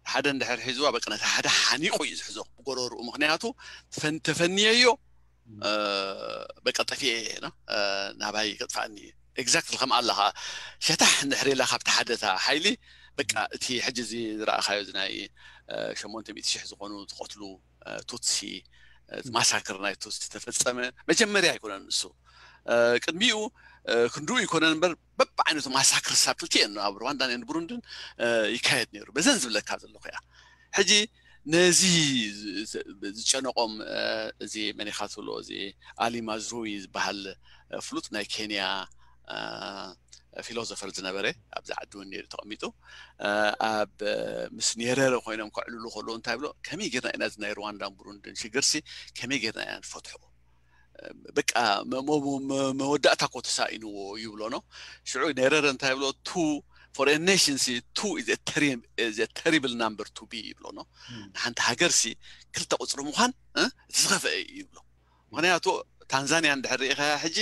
ሓደ እንድሕር ሒዝዋ በቃ ነቲ ሓደ ሓኒቑ እዩ ዝሕዞ ብጎረርኡ። ምክንያቱ ተፈንየዮ በቃ ጠፊኤ እየ ናባይ ከጥፋእኒ እዩ። exactly ከም ኣለኻ ሸታሕ እንድሕር ኢላ ካብቲ ሓደታ ሓይሊ በቃ እቲ ሕጂ እዚ ዝረኣኻዮ እዚ ናይ ሸሞንተ ሚእቲ ሽሕ ዝኾኑ ዝቐትሉ ቱትሲ ማሳክር ናይ ቱትሲ ተፈጸመ መጀመርያ ኣይኮነን እሱ ቅድሚኡ ክንድኡ ይኮነን እምበር በብዓይነቱ ማሳክር ሳብ ክልቲኤን ኣብ ሩዋንዳን ን ብሩንድን ይካየድ ነይሩ በዘን ዝብለካ ዘለኹ እያ ሕጂ ነዚ ዝጨነቆም እዚ መኒኻ ትብሎ እዚ ኣሊ ማዝሩዊ ዝበሃል ፍሉጥ ናይ ኬንያ ፊሎዞፈር ዝነበረ ኣብዚ ዓዲ እውን ነይሩ ተቐሚጡ ኣብ ምስ ኔረረ ኮይኖም ከዕልሉ ከለዉ እንታይ ብሎ ከመይ ጌርና ኢና እዚ ናይ ሩዋንዳን ብሩንድን ሽግርሲ ከመይ ጌርና ኢና ንፈትሖ በቃ መወዳእታ ኮ ተሳኢንዎ ይብሎ ነው ሽዑ ኔረረ እንታይ ብሎ ቱ for a nation ሲ two is a terrible number to be ይብሎ ነው ንሓንቲ ሃገር ሲ ክልተ ቁፅሪ ምዃን እቲ ዝኸፍአ እዩ ይብሎ ምክንያቱ ታንዛንያ እንድሕር ርኢኻ ሕጂ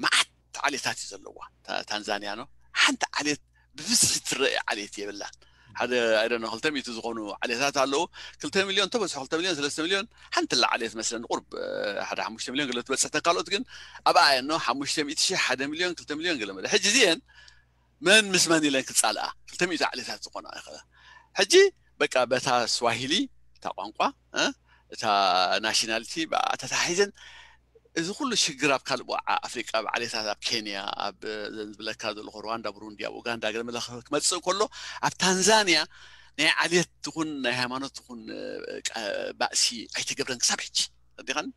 መዓት ዓሌታት እዩ ዘለዋ ታንዛንያ ነው ሓንቲ ዓሌት ብብዝሒ ትረአ ዓሌት የብላን ሓደ ኣይደነ ክልተ ሚእቲ ዝኾኑ ዓሌታት ኣለዉ ክልተ ሚልዮን ተበዝሑ ክልተ ሚልዮን ሰለስተ ሚልዮን ሓንቲ ላ ዓሌት መስለኒ ቁርብ ሓደ ሓሙሽተ ሚልዮን ገለ ትበፅሕ ተካልኦት ግን ኣብኣ እየኖ ሓሙሽተ ሚእቲ ሺሕ ሓደ ሚልዮን ክልተ ሚልዮን ገለ መለ ሕጂ እዚአን መን ምስ መን ኢለን ክፃልኣ ክልተ ሚእቲ ዓሌታት ዝኾና ይኽእላ ሕጂ በቃ በታ ስዋሂሊ እታ ቋንቋ እታ ናሽናሊቲ ተታሒዘን እዚ ኩሉ ሽግር ኣብ ካልእ ቦዓ ኣፍሪቃ ኣብ ዓሌታት ኣብ ኬንያ ኣብ ዝብለካ ዘለኹ ሩዋንዳ ብሩንዲ ኣብ ኡጋንዳ ገለ መለ ክመፅእ ከሎ ኣብ ታንዛንያ ናይ ዓሌት ትኹን ናይ ሃይማኖት ትኹን ባእሲ ኣይተገብረን ክሳብ ሕጂ ዲኻን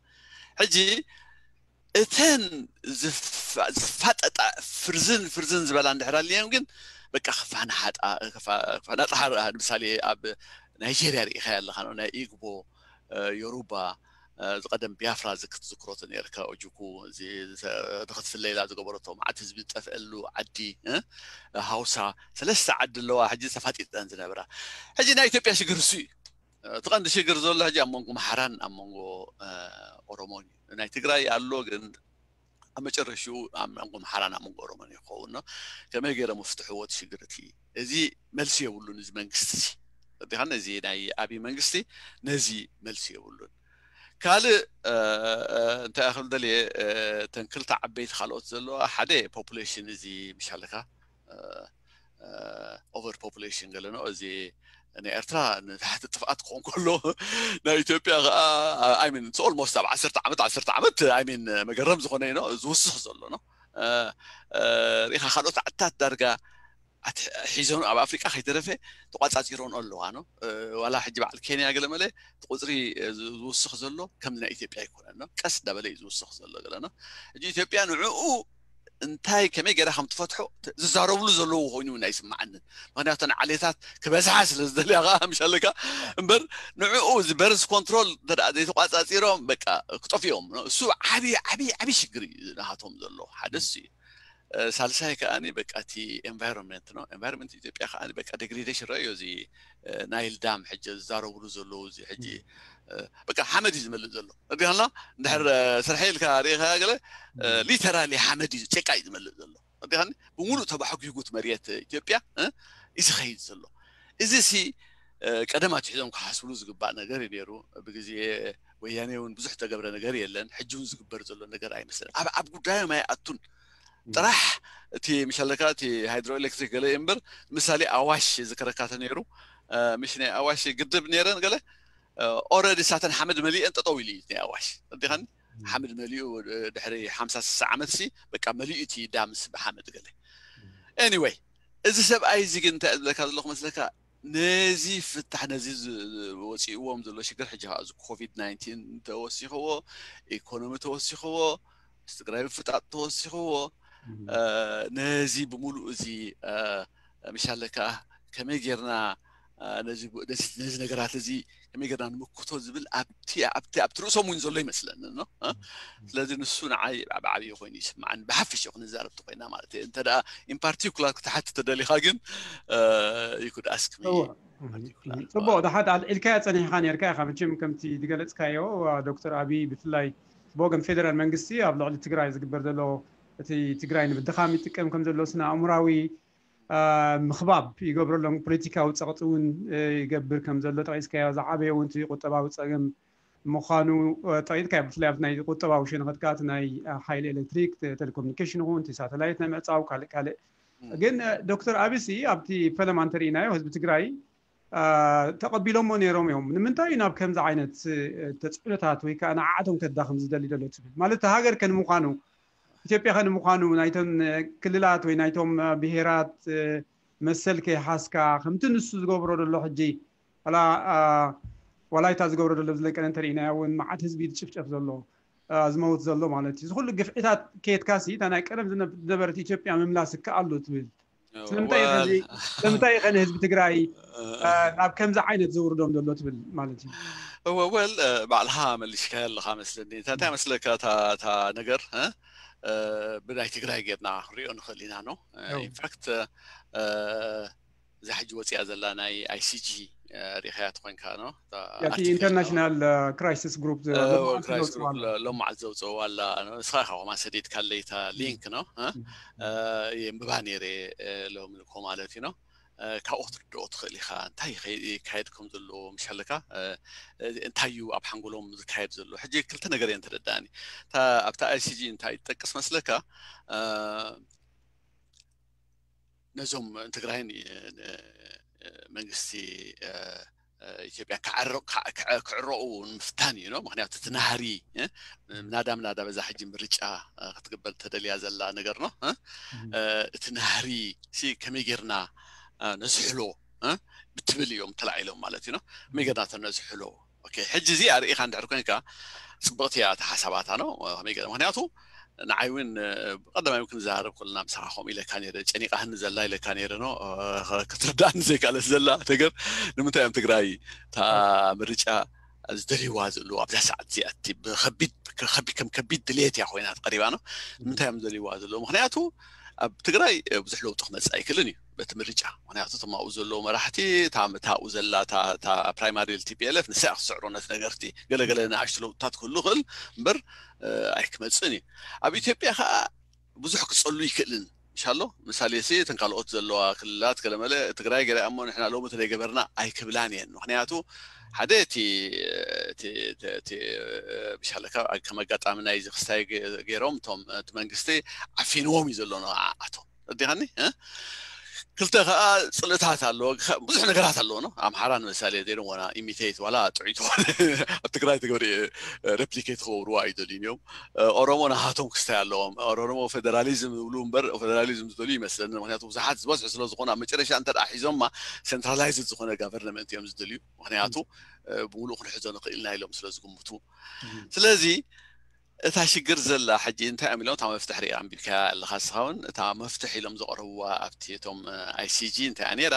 ሕጂ እተን ዝፋጠጣ ፍርዝን ፍርዝን ዝበላ እንድሕር ኣልየን ግን በቃ ክፋናሓጣ ክፋናጣ ንምሳሌ ኣብ ናይጀርያ ርኢኻ ኣለኻ ናይ ኢግቦ ዮሩባ ዝቀደም ቢያፍራ ክትዝክሮ ነርካ ኦጁኩ ንክትፍለይላ ዝገበረቶ መዓት ህዝቢ ዝጠፍአሉ ዓዲ ሃውሳ ሰለስተ ዓዲ ኣለዋ ሕጂ ተፋጢጠን ዝነብራ ሕጂ ናይ ኢትዮጵያ ሽግር እሱ እዩ እቲ ቀንዲ ሽግር ዘሎ ሕጂ ኣብ መንጎ ምሓራን ኣብ መንጎ ኦሮሞን እዩ ናይ ትግራይ ኣሎ ግን ኣብ መጨረሽኡ ኣብ መንጎ ምሓራን ኣብ መንጎ ኦሮሞን ይኸውን ከመይ ገይሮም ፍትሕዎ እቲ ሽግር እቲ እዚ መልሲ የብሉን እዚ መንግስቲ እዚ ዲኻን እዚ ናይ ኣብይ መንግስቲ ነዚ መልሲ የብሉን ካልእ እንታይ ክብል ደልየ ተን ክልተ ዓበይቲ ካልኦት ዘለዋ ሓደ ፖፑሌሽን እዚ ምሻለካ over population ገለ ነው እዚ ናይ ኤርትራ ንታሕቲ ጥፍኣት ክኾን ከሎ ናይ ኢትዮጵያ ከዓ I mean it's almost ኣብ ዓሰርተ ዓመት ዓሰርተ ዓመት I mean መገረም ዝኾነ ነው ዝውስኽ ዘሎ ነው ሪኢኻ ካልኦት ዓድታት ዳርጋ ሒዞም ኣብ ኣፍሪቃ ከይተረፈ ተቋፃፂሮን ኣለዋ ነው ዋላ ሕጂ በዓል ኬንያ ገለ መለ ቁፅሪ ዝውስኽ ዘሎ ከም ናይ ኢትዮጵያ ኣይኮነን ነው ቀስ እንዳበለ እዩ ዝውስኽ ዘሎ ገለ ነው ሕጂ ኢትዮጵያ ንዕኡ እንታይ ከመይ ገይራ ከም ትፈትሖ ዝዛረብሉ ዘለዉ ኮይኑ እውን ኣይስማዓንን ምክንያቱ ዓሌታት ክበዝሓ ስለ ዝደልያ ከዓ ምሻለካ እምበር ንዕኡ እዚ በርዝ ኮንትሮል ዘይተቋፃፂሮም በቃ ክጠፍኦም እሱ ዓብይ ዓብይ ዓብይ ሽግር እዩ ናሃቶም ዘሎ ሓደ እሱ እዩ ሳልሳይ ከዓ በቃ እቲ ኤንቫይሮንመንት ነው ኤንቫይሮንመንት ኢትዮጵያ ከዓ በቃ ዴግሬዴሽን ረእዮ እዚ ናይል ዳም ሕጂ ዝዛረብሉ ዘለዉ እዚ ሕጂ በቃ ሓመድ እዩ ዝመልእ ዘሎ እንዲና እንድሕር ስርሐ ኢልካ ርኢኻ ገለ ሊተራሊ ሓመድ እዩ ጭቃ እዩ ዝመልእ ዘሎ እንዲኻ ብምሉእ ተባሕጒጉት መሬት ኢትዮጵያ እዩ ዝኸይድ ዘሎ እዚ ሲ ቀደም ኣትሒዞም ክሓስብሉ ዝግባእ ነገር እዩ ነይሩ ብግዜ ወያኔ እውን ብዙሕ ተገብረ ነገር የለን ሕጂ እውን ዝግበር ዘሎ ነገር ኣይመስለን ኣብ ጉዳዮም ኣይኣቱን ጥራሕ እቲ ምሻለካ እቲ ሃይድሮ ኤሌክትሪክ ገለ እምበር ምሳሌ ኣዋሽ ዝከረካ ተነይሩ ምሽ ናይ ኣዋሽ ግድብ ነይረን ገለ ኦረዲ ሳተን ሓመድ መሊአን ጠጠው ኢሉ እዩ ናይ ኣዋሽ እንዲኻን ሓመድ መሊኡ ድሕሪ ሓምሳ ስሳ ዓመት ሲ በቃ መሊኡ እቲ ዳምስ ብሓመድ ገለ ኤኒወይ እዚ ሰብኣይ እዚ ግን እንታይ ዝብለካ ዘለኹ መስለካ ነዚ ፍታሕ ነዚ ወፂእዎም ዘሎ ሽግር ሕጂ ከዓ እዚ ኮቪድ ናይንቲን ተወሲኽዎ ኢኮኖሚ ተወሲኽዎ ትግራይ ምፍጣጥ ተወሲኽዎ ነዚ ብምሉእ እዚ ምሻለካ ከመይ ጌርና ነዚ ነገራት እዚ ከመይ ጌርና ንምክቶ ዝብል ኣብቲ ኣብቲ ኣብቲ ርእሶም እውን ዘሎ ይመስለኒ ስለዚ ንሱ ንዓይ ብዓብዪ ኮይኑ ይስምዓኒ ብሓፈሽ ክንዛረብ ተኮይና ማለት እዩ እንተ ኢን ፓርቲኩላር ክትሓት ተደሊኻ ግን you could ask me ጽቡቕ ድሓት ኣልዒልካያ ጸኒሕኻ ነርካ ኢኻ መቸም ከምቲ ዝገለጽካዮ ዶክተር ኣብይ ብፍላይ ብወገን ፌደራል መንግስቲ ኣብ ልዕሊ ትግራይ ዝግበር ዘሎ እቲ ትግራይ ንምድኻም ይጥቀም ከም ዘሎ ስነ ኣእምራዊ ምኽባብ ይገብረሎም ፖለቲካዊ ፀቕጢ እውን ይገብር ከም ዘሎ ጠቂስካዮ ዝዓበየ እውን ቁጠባዊ ፀገም ምዃኑ ጠቂጥካ፣ ብፍላይ ኣብቲ ናይ ቁጠባዊ ሸነኸት ከኣ፣ እቲ ናይ ሓይሊ ኤሌክትሪክ፣ ቴሌኮሙኒኬሽን ይኹን፣ እቲ ሳተላይት ናይ ምዕጻው፣ ካልእ ካልእ። ግን ዶክተር ኣቢሲ ኣብቲ ፈለማ እንተርኢናዮ፣ ህዝቢ ትግራይ ተቐቢሎሞ ነይሮም እዮም። ንምንታይ እዩ ናብ ከምዚ ዓይነት ተፅዕኖታት ወይ ከዓ ንዓዓቶም ከዳኽም ዝደሊ ዘሎ ትብል? ማለት፣ ሃገር ከንምዃኑ፣ ኢትዮጵያ ከንምዃኑ፣ ናይቶም ክልላት ወይ ናይቶም ብሄራት መሰል ከይሓዝካ፣ ከምቲ ንሱ ዝገብሮ ዘሎ ሕጂ፣ ዋላ ዋላይታ ዝገብሮ ዘሎ ዝለቀነ እንተርኢናዮ እውን፣ መዓት ህዝቢ ዝጭፍጨፍ ዘሎ፣ ዝመውት ዘሎ ማለት እዩ። እዚ ኩሉ ግፍዒታት ከየትካሲ፣ እታ ናይ ቀደም ዝነበረት ኢትዮጵያ ምምላስ ይከኣሉ ትብል? ስለምንታይ ከ ንህዝቢ ትግራይ ናብ ከምዚ ዓይነት ዘውርዶም ዘሎ ትብል ማለት እዩ? እወ፣ ወል ባዕልኻ መሊስካዮ ኣለኻ መስለኒ። እንታይ መስለካ እታ ነገር ብናይ ትግራይ ጌርና ክንሪኦ ንኽእል ኢና ነው። ኢንፋክት እዛ ሕጂ ወፂኣ ዘላ ናይ ኣይሲጂ ሪኸያ ተኮንካ ነው፣ ኢንተርናሽናል ክራይሲስ ግሩፕ ሎማዓት ዘውፅእዋ ኣላ። ንስኻ ኢኻ ኮማ ሰዲድካለይ እታ ሊንክ ነው። የንብባ ነይረ ሎም ልኮ ማለት እዩ ነው። ካብኡ ክትርድኦ ትኽእል ኢኻ፣ እንታይ ይካየድ ከም ዘሎ። ምሻለካ እንታይ እዩ ኣብ ሓንጎሎም ዝካየድ ዘሎ። ሕጂ ክልተ ነገር እየን ተረዳእኒ። ኣብታ ኣይሲጂ እንታይ ትጠቅስ መስለካ? ነዞም ትግራይን መንግስቲ ኢትዮጵያ ክዕረቑ ንምፍታን እዩ ነው። ምክንያቱ እቲ ናህሪ ምናዳ ምናዳ በዛ ሕጂ ምርጫ ክትግበር ተደልያ ዘላ ነገር ነው። እቲ ናህሪ ከመይ ጌርና ነዝሕሎ ብትብል እዮም ተላዒሎም ማለት እዩ ነው። ከመይ ጌርና ተነዝሕሎ? ሕጂ እዚ ኣርእኻ እንድሕር ኮንካ፣ ፅብቕቲ እያ እታ ሓሳባታ ነው። ከመይ ገለ ምክንያቱ ንዓይ እውን ቀዳማይ እውን ክንዘራረብ ከለና ምሳኻ ከምኡ ኢለካ ነይረ፣ ጨኒቓህኒ ዘላ ኢለካ ነይረ ነው። ክትርዳእኒ ዘይካለት ዘላ ነገር ንምንታይ እዮም ትግራይ እታ ምርጫ ዝደልይዋ ዘለዉ ኣብዛ ሰዓት እዚኣ? እቲ ብከቢድ ከም ከቢድ ድልየት እያ ኮይና ቀሪባ ነው። ንምንታይ እዮም ዝደልይዋ ዘለዉ? ምክንያቱ ኣብ ትግራይ ብዙሕ ለውጢ ክመፅእ ኣይክእልን እዩ በቲ ምርጫ። ምክንያቱ እቶም ኣብኡ ዘለዉ መራሕቲ፣ እታ ኣብኡ ዘላ እታ ፕራይማሪ ቲፒኤልኤፍ ንሳ ክትስዕሮ ነቲ ነገርቲ። ገለገለ ንኣሽቱ ለውጥታት ክህሉ ይኽእል እምበር ኣይክመፅእን እዩ። ኣብ ኢትዮጵያ ከዓ ብዙሕ ክፀሉ ይክእልን ምሻሎ። ምሳሌ ሲ እተን ካልኦት ዘለዋ ክልላት ገለመለ ትግራይ ገለ እሞ ንሕና ሎሚ ተደይገበርና ኣይክብላን እየን። ምክንያቱ ሓደ እቲ ምሻለካ ከም ኣጋጣሚ ናይዚ ክስታይ ገይሮም እቶም እቲ መንግስቲ ዓፊንዎም እዩ ዘሎ ንዓኣቶም። ረዲኻኒ? ክልተ ከዓ ፅልእታት ኣለዎ። ብዙሕ ነገራት ኣለዎ ነው። ኣምሓራ ንምሳሌ they don't wanna imitate ዋላ ጥዑይ ተኾነ ኣብ ትግራይ ትገብሪ ሬፕሊኬት ክገብርዋ ኣይደልዩን እዮም። ኦሮሞ ናሃቶም ክስታይ ኣለዎም። ኦሮሞ ፌደራሊዝም ዝብሉ እምበር ፌደራሊዝም ዝደልዩ ይመስለኒ። ምክንያቱ ብዙሓት ዝበዝሑ ስለዝኾኑ ኣብ መጨረሻ እንተ ሒዞማ ሴንትራላይዝድ ዝኾነ ጋቨርንመንት እዮም ዝደልዩ። ምክንያቱ ብምሉእ ክንሕዞ ንኽእል ኢና ኢሎም ስለዝግምቱ። ስለዚ እታ ሽግር ዘላ ሕጂ እንታይ እዮም ኢሎም እታ መፍትሒ ሪኣ ኣንቢብካያ ኣለኻ እስኻ እውን እታ መፍትሒ ኢሎም ዘቕረብዋ ኣብቲ እቶም ኣይሲጂ እንታይ እያ ነይራ?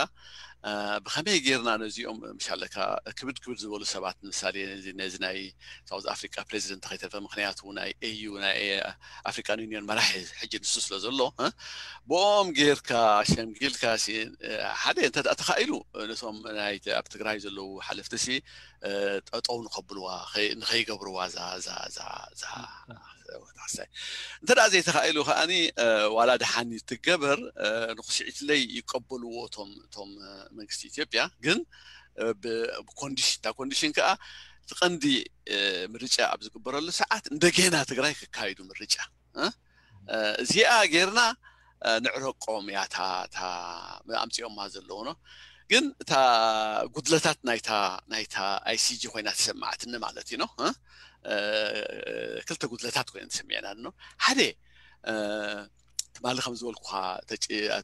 ብኸመይ ጌርና ነዚኦም ምሻለካ ክብድ ክብድ ዝበሉ ሰባት ንምሳሌ ነዚ ናይ ሳውዝ ኣፍሪካ ፕሬዚደንት ከይተርፈ ምክንያቱ ናይ ኤዩ ናይ ኣፍሪካን ዩኒየን መራሒ ሕጂ ንሱ ስለ ዘሎ ብኦም ጌርካ ሸምጊልካ ሓደ እንተ ተኻኢሉ ነቶም ናይ ኣብ ትግራይ ዘለዉ ሓለፍቲ ሲ ጠጠው ንኸብልዋ ንኸይገብርዋ ዛ ዛ ዛ ዛ ወታሕሳይ እንተ ደኣ ዘይተኻኢሉ ከኣኒ ዋላ ደሓን ትገበር ንኽስዒትለይ ይቀበልዎ እቶም እቶም መንግስቲ ኢትዮጵያ ግን ብኮንዲሽን እታ ኮንዲሽን ከዓ እቲ ቀንዲ ምርጫ ኣብ ዝግበረሉ ሰዓት እንደገና ትግራይ ክካይዱ ምርጫ እዚኣ ጌርና ንዕረቆም እያ እታ ኣምፂኦማ ዘለዉ ነው። ግን እታ ጉድለታት ናይታ ናይታ ኣይሲጂ ኮይና ተሰማዕትኒ ማለት እዩ ነው። ክልተ ጉድለታት ኮይነ ተሰሚዕና ነው። ሓደ ትማሊ ከም ዝበልኩኻ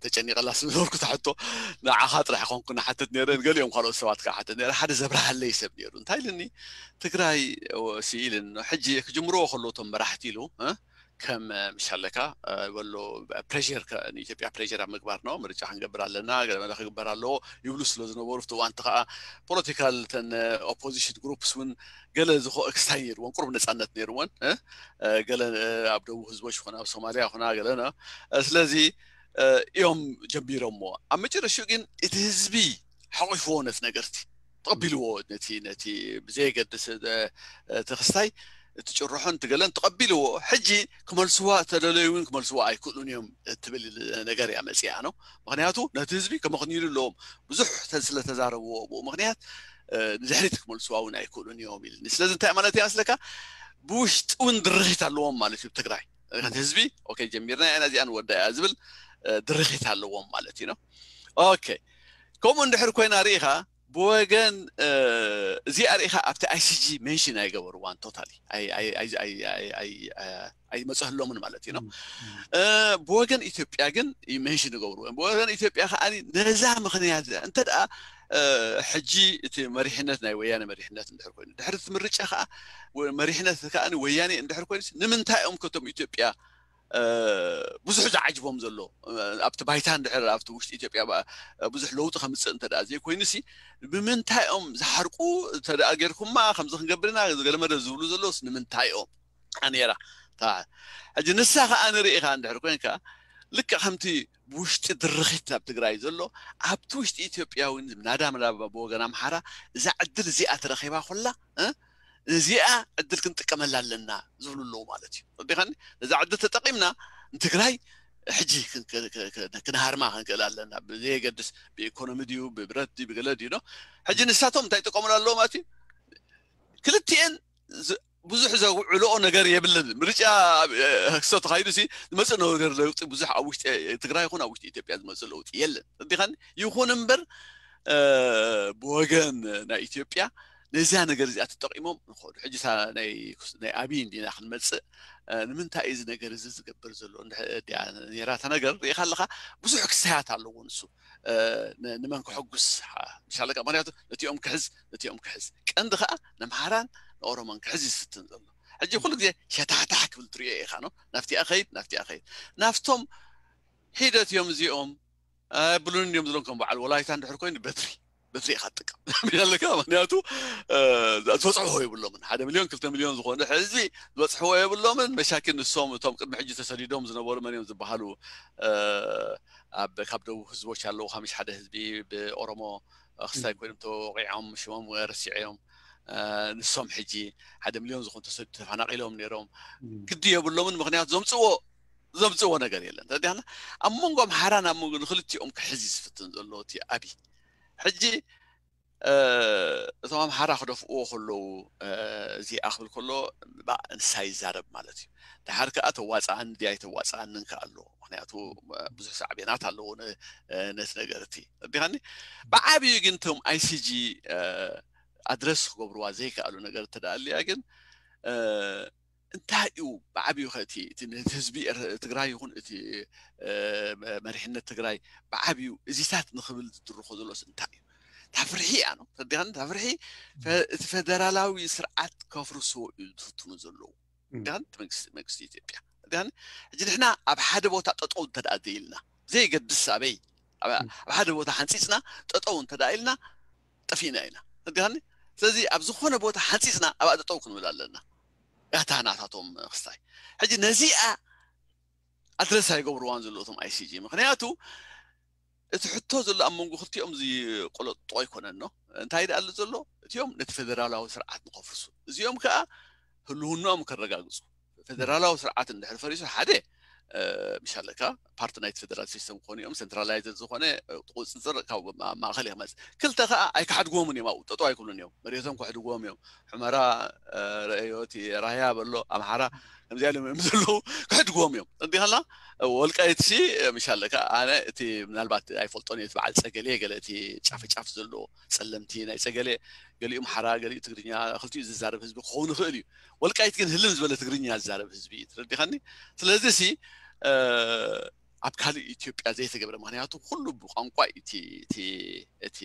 ተጨኒቐላ ስዝበልኩ ትሕቶ ንዓኻ ጥራሕ ኮንኩ ንሓትት ነረ ገሊኦም ካልኦት ሰባት ከዓ ሓትት ነረ ሓደ ዘብርሃለይ ሰብ ነይሩ እንታይ ኢልኒ ትግራይ ስኢልን ሕጂ ክጅምርዎ ከለዉ እቶም መራሕቲ ኢሉ ከም ምሻለካ በሎ ፕሬር ንኢትዮጵያ ፕሬር ኣብ ምግባር ነው ምርጫ ክንገብር ኣለና ገለመለ ክግበር ኣለዎ ይብሉ ስለ ዝነበሩ ፍቲ እዋንቲ ከዓ ፖለቲካል ተን ኦፖዚሽን ግሩፕስ እውን ገለ ዝኾ ክስታይ ነይርዎን ቁሩብ ነፃነት ነይርዎን ገለ ኣብ ደቡብ ህዝቦች ይኹን ኣብ ሶማሊያ ይኹና ገለና ስለዚ እዮም ጀሚሮሞ ኣብ መጨረሽኡ ግን እቲ ህዝቢ ሓቂፍዎ ነቲ ነገርቲ ተቐቢልዎ ነቲ ነቲ ብዘየገድስ እቲ ክስታይ እቲ ጭርሖን እቲ ገለን ተቐቢልዎ፣ ሕጂ ክመልስዋ ተደለዩ እውን ክመልስዋ ኣይክእሉን እዮም እትብል ነገር እያ መፅኣ ነው። ምክንያቱ ነቲ ህዝቢ ከመኽንዩሉ ኣለዎም። ብዙሕ ተ- ስለ ተዛረብዎ ብኡ ምክንያት እ፣ ንድሕሪት ክመልስዋ እውን ኣይክእሉን እዮም ኢልኒ። ስለዚ እንታይ ማለት እያ መስለካ? ብውሽጢ እውን ድርኺት ኣለዎም ማለት እዩ ትግራይ። እቲ ህዝቢ ኦኬ ጀሚርና ኢና እዚኣ ንወዳ እያ ዝብል እ፣ ድርኺት ኣለዎም ማለት እዩ ነው። ኦኬ ከምኡ እንድሕር ኮይና ርኢኻ ብወገን እዚኣ ርኢኻ ኣብቲ ኣይሲጂ ሜንሽን ኣይገበርዋን ቶታሊ ኣይመፅህሎምን ማለት እዩ ነው። ብወገን ኢትዮጵያ ግን ሜንሽን ይገብርዎ እዮም። ብወገን ኢትዮጵያ ከዓ ነዛ ምክንያት እዚኣ እንተ ደኣ ሕጂ እቲ መሪሕነት ናይ ወያነ መሪሕነት እንድሕር ኮይኑ ድሕሪ እቲ ምርጫ ከዓ መሪሕነት ከዓ ወያኔ እንድሕር ኮይኑ ንምንታይ እዮም ከቶም ኢትዮጵያ ብዙሕ ዝዓጅቦም ዘሎ ኣብቲ ባይታ እንድሕር ኣብቲ ውሽጢ ኢትዮጵያ ብዙሕ ለውጢ ከምፅእ እንተ ደኣ ዘይኮይኑ ሲ ብምንታይ እዮም ዝሓርቁ እንተ ደኣ ጌርኩማ ከምዚ ክንገብርና ገለመደ ዝብሉ ዘለውስ ንምንታይ እዮም ነይራ። ሕጂ ንሳ ከዓ ንርኢ ኢኻ እንድሕር ኮይንካ ልክዕ ከምቲ ብውሽጢ ድርኺት ኣብ ትግራይ ዘሎ ኣብቲ ውሽጢ ኢትዮጵያ እውን ናዳ ምናባ ብወገን ኣምሓራ እዛ ዕድል እዚኣ ተረኺባ ኮላ እዚኣ ዕድል ክንጥቀመላ ኣለና ዝብሉ ኣለዉ ማለት እዩ። ዲኻኒ ነዛ ዕድል ተጠቂምና ንትግራይ ሕጂ ክንሃርማ ክንክእል ኣለና ብዘየገድስ ብኢኮኖሚ ድዩ ብብረት ድዩ ብገለ ድዩ ዶ ሕጂ ንሳቶም እንታይ ይጥቀሙሉ ኣለዎ ማለት እዩ። ክልቲኤን ብዙሕ ዘውዕልኦ ነገር የብልን። ምርጫ ክሶ ተኻይዱ ሲ ዝመፅእ ነገር ለውጢ ብዙሕ ኣብ ውሽጢ ትግራይ ይኹን ኣብ ውሽጢ ኢትዮጵያ ዝመፅእ ለውጢ የለን። እንዲኻን ይኹን እምበር ብወገን ናይ ኢትዮጵያ ነዚያ ነገር እዚኣ ተጠቂሞም ንኸዱ ሕጂ ናይ ኣብይ እንዲና ክንመፅእ ንምንታይ እዚ ነገር እዚ ዝገብር ዘሎ ኔራታ ነገር ርኢኻ ኣለኻ ብዙሕ ክስተያት ኣለዎ ንሱ ንመን ክሕጉስ ምሻለካ ምክንያቱ ነቲኦም ክሕዝ ነቲኦም ክሕዝ ቀንዲ ከዓ ነምሃራን ንኦሮሞን ክሕዝ ይስትን ዘሎ ሕጂ ኩሉ ግዜ ሸታሕታሕ ክብል ትሪኦ ኢኻ ነው ናፍቲኣ ኸይድ ናፍቲኣ ኸይድ ናፍቶም ሒደት እዮም እዚኦም ብሉን እዮም ዝሎም ከም በዓል ወላይታ እንድሕር ኮይኑ በትሪ በትሪ ኢኻ ትጥቀም ኣለካ ምክንያቱ ዝበፅሕዎ የብሎምን ሓደ ሚሊዮን ክልተ ሚሊዮን ዝኾነ ህዝቢ ዝበፅሕዎ የብሎምን መሻኪን ንሶም እቶም ቅድሚ ሕጂ ተሰዲዶም ዝነበሩ መን እዮም ዝበሃሉ ኣብ ካብ ደቡብ ህዝቦች ኣለዉ ካብ ሓደ ህዝቢ ብኦሮሞ ክስታይ ኮይኖም ተወቂዖም ሽሞም ረሲዐዮም ንሶም ሕጂ ሓደ ሚሊዮን ዝኾኑ ተፈናቂሎም ነይሮም ግዲ የብሎምን ምክንያቱ ዘምፅዎ ዘምፅዎ ነገር የለን ተዲና ኣብ መንጎ ኣምሓራን ኣብ መንጎ ንክልቲኦም ክሕዝ ዝፍትን ዘሎ እቲ ኣብይ ሕጂ እቶም ኣምሓራ ክደፍእዎ ከለዉ እዚኣ ክብል ከሎ ንሳ ይዛረብ ማለት እዩ። ድሓር ከዓ ተዋፅኣኒ ድያ ኣይተዋፅኣንን ከዓ ኣለዎ። ምክንያቱ ብዙሕ ሳዕቤናት ኣለዎ ነቲ ነገር እቲ ዲኻኒ ብዓብዩ ግን እቶም ኣይሲጂ ኣድረስ ክገብርዋ ዘይከኣሉ ነገር እተደኣልያ ግን እንታይ እዩ ብዓብዩ ከእቲ እቲ ህዝቢ ትግራይ ይኹን እቲ መሪሕነት ትግራይ ብዓብዩ እዚታት ንክብል ዝድርኮ ዘሎስ እንታይ እዩ ታፍርሒ እያ ነው ተዲኻን ታፍርሒ እቲ ፈደራላዊ ስርዓት ከፍርሶ እዩ ዝፍትኑ ዘለዉ ዲኻን መንግስቲ ኢትዮጵያ ዲኻን ሕጂ ንሕና ኣብ ሓደ ቦታ ጠጠው እንተደኣ ዘይልና ዘይገድስ ኣበይ ኣብ ሓደ ቦታ ሓንፂፅና ጠጠው እንተደኣ ኢልና ጠፊእና ኢና ዲኻን ስለዚ ኣብ ዝኾነ ቦታ ሓንፂፅና ኣብኣ ጠጠው ክንብል ኣለና ያታ ናታቶም ክስታይ ሕጂ ነዚኣ ኣድረስ ኣይገብርዋን ዘለዉ እቶም ኣይሲጂ ምክንያቱ እቲ ሕቶ ዘሎ ኣብ መንጎ ክልቲኦም ዝቆለጥጦ ኣይኮነን ኖ እንታይ ደኣ ኣሎ ዘሎ እቲኦም ነቲ ፌደራላዊ ስርዓት ንኸፍርሱ እዚኦም ከዓ ህልውናኦም ከረጋግፁ ፌደራላዊ ስርዓት እንድሕር ፈሪሱ ሓደ ምሻለካ ፓርቲ ናይቲ ፌደራል ሲስተም ክኾኑ እዮም ሴንትራላይዘድ ዝኾነ ቁፅፅር ካብ ማእኸል ይመፅ ክልተ ከዓ ኣይክሓድግዎምን እዮም ኣብኡ ጠጠው ኣይክብሉን እዮም መሬቶም ክሕድግዎም እዮም ሕመራ ረአዮቲ ራያ በሎ ኣምሓራ ከምዚኣ ኢሎም እዮም ዘለዉ ክሕድግዎም እዮም እንዲኸላ ወልቃይት ሲ ምሻለካ ኣነ እቲ ምናልባት ኣይፈልጦን እዩ በዓል ፀገሌ ገለ እቲ ጫፍ ጫፍ ዘለዎ ፀለምቲ ናይ ፀገሌ ገሊኡ ኣምሓራ ገሊኡ ትግርኛ ክልቲኡ ዝዛረብ ህዝቢ ክኸውን ይኽእል እዩ ወልቃይት ግን ህልም ዝበለ ትግርኛ ዝዛረብ ህዝቢ እዩ ትረዲኻኒ ስለዚ ሲ ኣብ ካልእ ኢትዮጵያ ዘይተገብረ ምክንያቱ ኩሉ ብቋንቋ እቲ እቲ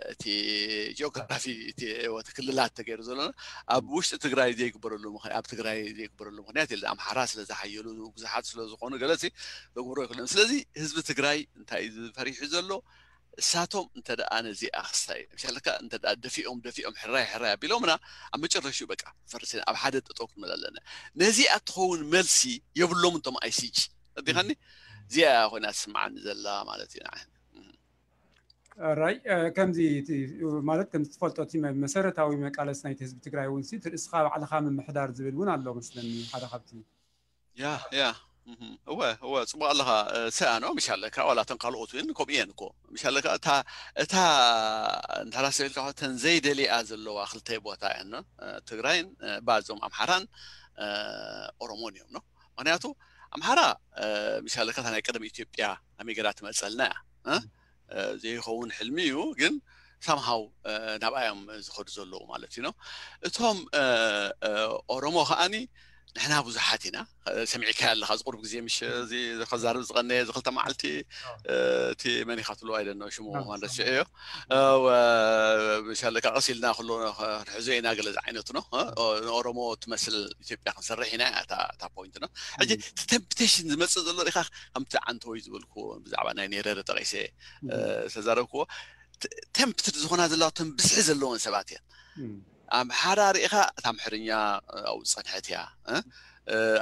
እቲ ጂኦግራፊ እቲ ክልላት ተገይሩ ዘሎ ኣብ ውሽጢ ትግራይ ዘይግበረሉ ኣብ ትግራይ ዘይግበረሉ ምክንያት የለ ኣምሓራ ስለ ዝሓየሉ ብዙሓት ስለ ዝኾኑ ገለፂ ዘግብሮ ይክእለን ስለዚ ህዝቢ ትግራይ እንታይ ፈሪሑ ዘሎ እሳቶም እንተ ደኣ ነዚኣ ክስታይ ምሻለካ እንተ ደኣ ደፊኦም ደፊኦም ሕራይ ሕራይ ኣቢሎምና ኣብ መጨረሽኡ በቃ ፈርስ ኣብ ሓደ ጠጠው ክንብል ኣለና ነዚኣ ትኸውን መልሲ የብሎም እንቶም ኣይሲጂ ረዲኻኒ እዚኣ ኮይና ትስምዓኒ ዘላ ማለት እዩ ንዓይ ራይ ከምዚ ማለት ከምዚ ትፈልጦ እቲ መሰረታዊ መቃለስ ናይቲ ህዝቢ ትግራይ እውን እቲ ርእስኻ ባዕልኻ ምምሕዳር ዝብል እውን ኣሎ መስለኒ ሓደ ካብቲ ያ ያ እወ እወ ፅቡቅ ኣለኻ። ሰኣኖ ምሽ ኣለካ ዋላ እተን ካልኦት እውን ከምኡ እየን እኮ ምሽ ኣለካ እታ እታ እንተራሰብ ኢልካ ተን ዘይደሊኣ ዘለዋ ክልተ ቦታ እየን ትግራይን ባዞም ኣምሓራን ኦሮሞን እዮም ነው። ምክንያቱ ኣምሓራ ምሽ ኣለካ ናይ ቀደም ኢትዮጵያ ኣሜገራ ትመፀልና እያ። ዘይኸውን ሕልሚ እዩ ግን ሳምሃው ናብኣዮም ዝኸዱ ዘለዉ ማለት እዩ ነው። እቶም ኦሮሞ ከዓኒ ንሕና ብዙሓት ኢና። ሰሚዕካ ኣለካ ዝቁርብ ግዜ ምሽ ከዛርብ ዝቀነየ ዝክልተ መዓልቲ እቲ መኒካ ትሎ ኣይደነ ሽሙ ማንደስዒ እዮ። ምሻለካ ቀስ ኢልና ክሎ ንሕዞ ኢና ገለ ዝዓይነቱ ነው። ንኦሮሞ ትመስል ኢትዮጵያ ክንሰርሕ ኢና እታ ፖይንት ነው። ሕጂ ተምፕቴሽን ዝመፅእ ዘሎ ኢካ ከምቲ ዓንተወይ ዝበልኩ ብዛዕባ ናይ ኔረረ ጠቂሰ ዝተዛረብክዎ ተምፕትድ ዝኾና ዘለዋ ተም ብዝሒ ዘለዎን ሰባት እየን። ኣምሓራ ርኢኻ እታ ኣምሕርኛ ኣብኡ ዝፀንሐት እያ።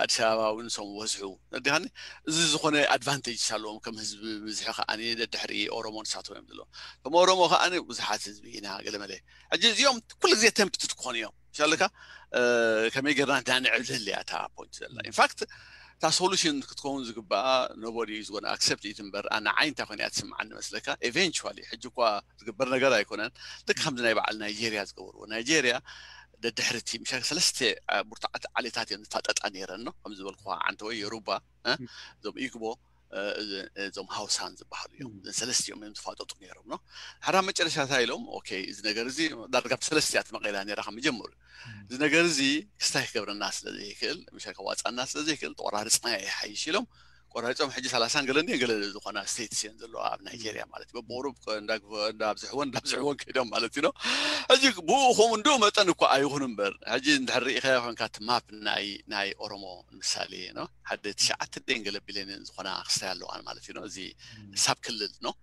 ኣዲስ ኣበባ እውን ሰም ወዝሑ ዲኻኒ እዚ ዝኾነ ኣድቫንቴጅ ኣለዎም ከም ህዝቢ ብዝሒ ከዓ ደድሕሪ ኦሮሞ ንሳቶም እዮም ዘለዎም። ከም ኦሮሞ ከዓ ብዙሓት ህዝቢ ኢና ገለመለ ሕጂ እዚኦም ኩሉ ግዜ ተምፕትድ ክኾኑ እዮም ሻለካ ከመይ ገርና ዳንዕብልል እያ እታ ፖይንት ዘላ ኢንፋክት እታ ሶሉሽን ክትከውን ዝግባኣ ኖቦዲ ዝኮነ ኣክሰፕት ኢት እምበር ኣነ ዓይንታ ኮይነ እያ ትስምዓኒ መስለካ ኤቨንቹዋሊ ሕጂ እኳ ዝግበር ነገር ኣይኮነን። ልክ ከምዚ ናይ በዓል ናይጄርያ ዝገበርዎ ናይጄርያ ደድሕርቲ ምሻ ሰለስተ ብርቱዓት ዓሌታት እዮም ዝፋጠጣ ነይረን ነው ከም ዝበልኩ ዓንተ ወይ የሩባ እዞም ኢግቦ እዞም ሃውሳን ዝበሃሉ እዮም ሰለስቲኦም እዮም ዝፋጠጡ ነይሮም ነው። ሓደ መጨረሻታ ኢሎም ኦኬ እዚ ነገር እዚ ዳርጋ ብሰለስቲያ ተመቂላ ነራ ካብ መጀመሩ እዚ ነገር እዚ ክስታይ ክገብረና ስለ ዘይክእል ምሻ ከዋፃና ስለ ዘይክእል ተቆራርፅና ይሓይሽ ኢሎም ቆራሪፆም ሕጂ ሰላሳን ገለ እንዲን ገለ ዝኾና ስቴትስ እየን ዘለዋ ኣብ ናይጄርያ ማለት እዩ። በብቁሩብ እንዳብዝሕወን እንዳብዝሕወን ከይዶም ማለት እዩ ነው። ሕጂ ብኡ ከምኡ እንድኡ መጠን እኳ ኣይኹን እምበር ሕጂ እንድሕር ርኢኻዮ ኮንካ እቲ ማፕ ናይ ናይ ኦሮሞ ንምሳሌ ነው ሓደ ትሽዓተ ደን ገለ ቢልዮን ዝኾና ክስታይ ኣለዋን ማለት እዩ ነው። እዚ ሳብ ክልል ነው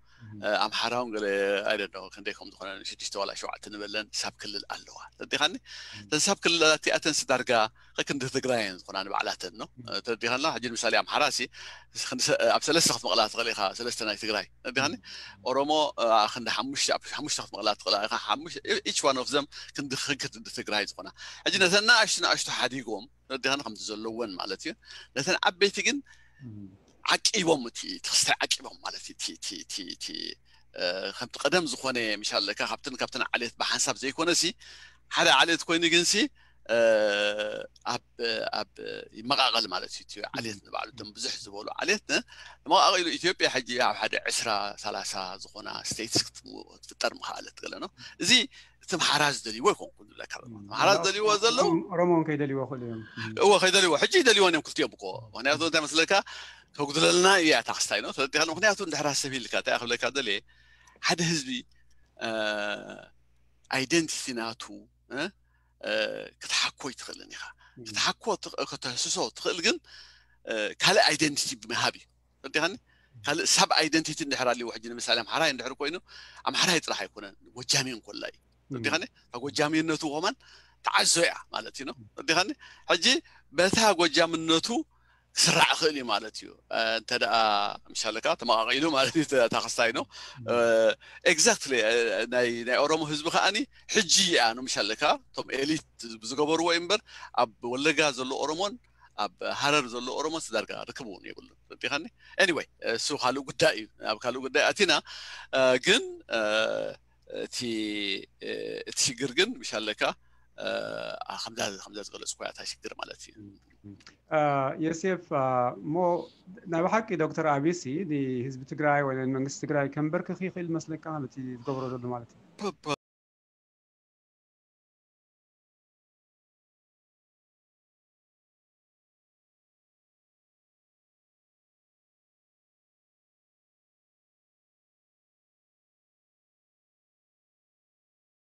ኣምሓራውን ገለ ኣይደዶ ክንደይ ከም ዝኾነ ሽዱሽተ ዋላ ሸውዓተ ንበለን ሳብ ክልል ኣለዋ ተዲኻኒ እተን ሳብ ክልላት እቲኣተን ስዳርጋ ከክንዲ ትግራይን ዝኾና ንባዕላተን ነው ተዲኻና ሕጂ ንምሳሌ ኣምሓራ ሲ ኣብ ሰለስተ ክትመቕላ ትኽእል ኢኻ ሰለስተ ናይ ትግራይ ተዲኻኒ ኦሮሞ ክንዲ ሓሙሽተ ክትመቕላ ትኽእል ኢኻ ኢች ዋን ኦፍ ዘም ክንዲ ክንክንዲ ትግራይ ዝኾና ሕጂ ነተን ንኣሽቱ ንኣሽቱ ሓዲጎም ተዲኻኒ ከምቲ ዘለወን ማለት እዩ ነተን ዓበይቲ ግን ዓቂቦም እቲ ክስታይ ዓቂቦም ማለት እቲ ከምቲ ቀደም ዝኾነ ምሻለካ ካብትን ካብትን ዓሌት ብሓንሳብ ዘይኮነ ሲ ሓደ ዓሌት ኮይኑ ግን ሲ ኣብ ኣብ ይመቃቀል ማለት እዩ። ዓሌት ንባዕሉ እቶም ብዙሕ ዝበሉ ዓሌት መቃቀሉ ኢትዮጵያ ሕጂ ኣብ ሓደ ዕስራ ሰላሳ ዝኾና ስቴትስ ክትፍጠር ምክኣለት ገለ ነው። እዚ እቲ ምሓራ ዝደልይዎ ይኮንኩ ዝብለካ ምሓራ ዝደልይዎ ዘለዉ ኦሮሞን ከይደልይዎ ክእሉ እዮም። እዎ ከይደልይዎ ሕጂ ይደልይዎን እዮም ክልቲኦም እኮ ምክንያቱ እንታይ መስለካ ከጉድለልና እያ እታ ክስታይ ነው ተረዲኻ ምክንያቱ እንድሕራ ሰብ ኢልካ እንታይ ክብለካ ደልየ ሓደ ህዝቢ ኣይደንቲቲ ናቱ ክትሓኮ ይትኽእልን ኢኻ ክትሓኮ ከተህስሶ ትኽእል ግን ካልእ ኣይደንቲቲ ብምሃብ እዩ ተረዲኻኒ ካልእ ሳብ ኣይደንቲቲ እንድሕር ኣልዎ ሕጂ ንምሳሌ ኣምሓራይ እንድሕር ኮይኑ ኣምሓራይ ጥራሕ ኣይኮነን ጎጃሚ እንኮላ እዩ ተረዲኻኒ ካብ ጎጃሚነቱ ከማን ተዓዞ እያ ማለት እዩ ተረዲኻኒ ሕጂ በታ ጎጃምነቱ ክስራዕ ይኽእል እዩ ማለት እዩ እንተ ደኣ ምሻለካ ተመቃቂሉ ማለት እዩ እታ ክስታይ ነው ኤግዛክትሊ ናይ ኦሮሞ ህዝቢ ከዓኒ ሕጂ እያ ነው ምሻለካ እቶም ኤሊት ዝገበርዎ እዩ እምበር ኣብ ወለጋ ዘሎ ኦሮሞን ኣብ ሃረር ዘሎ ኦሮሞን ስዳርጋ ርክብ እውን የብሉን ረዲኻኒ ኤኒወይ እሱ ካልእ ጉዳይ እዩ ኣብ ካልእ ጉዳይ ኣቲና ግን እቲ እቲ ሽግር ግን ምሻለካ ከምዛ ዝገለፅኩ እታ ሽግር ማለት እዩ ዮሴፍ እሞ ናይ ብሓቂ ዶክተር ኣቢሲ ንህዝቢ ትግራይ ወይ መንግስቲ ትግራይ ከንበርክኽ ይኽእል መስለካ በቲ ዝገብሮ ዘሎ ማለት እዩ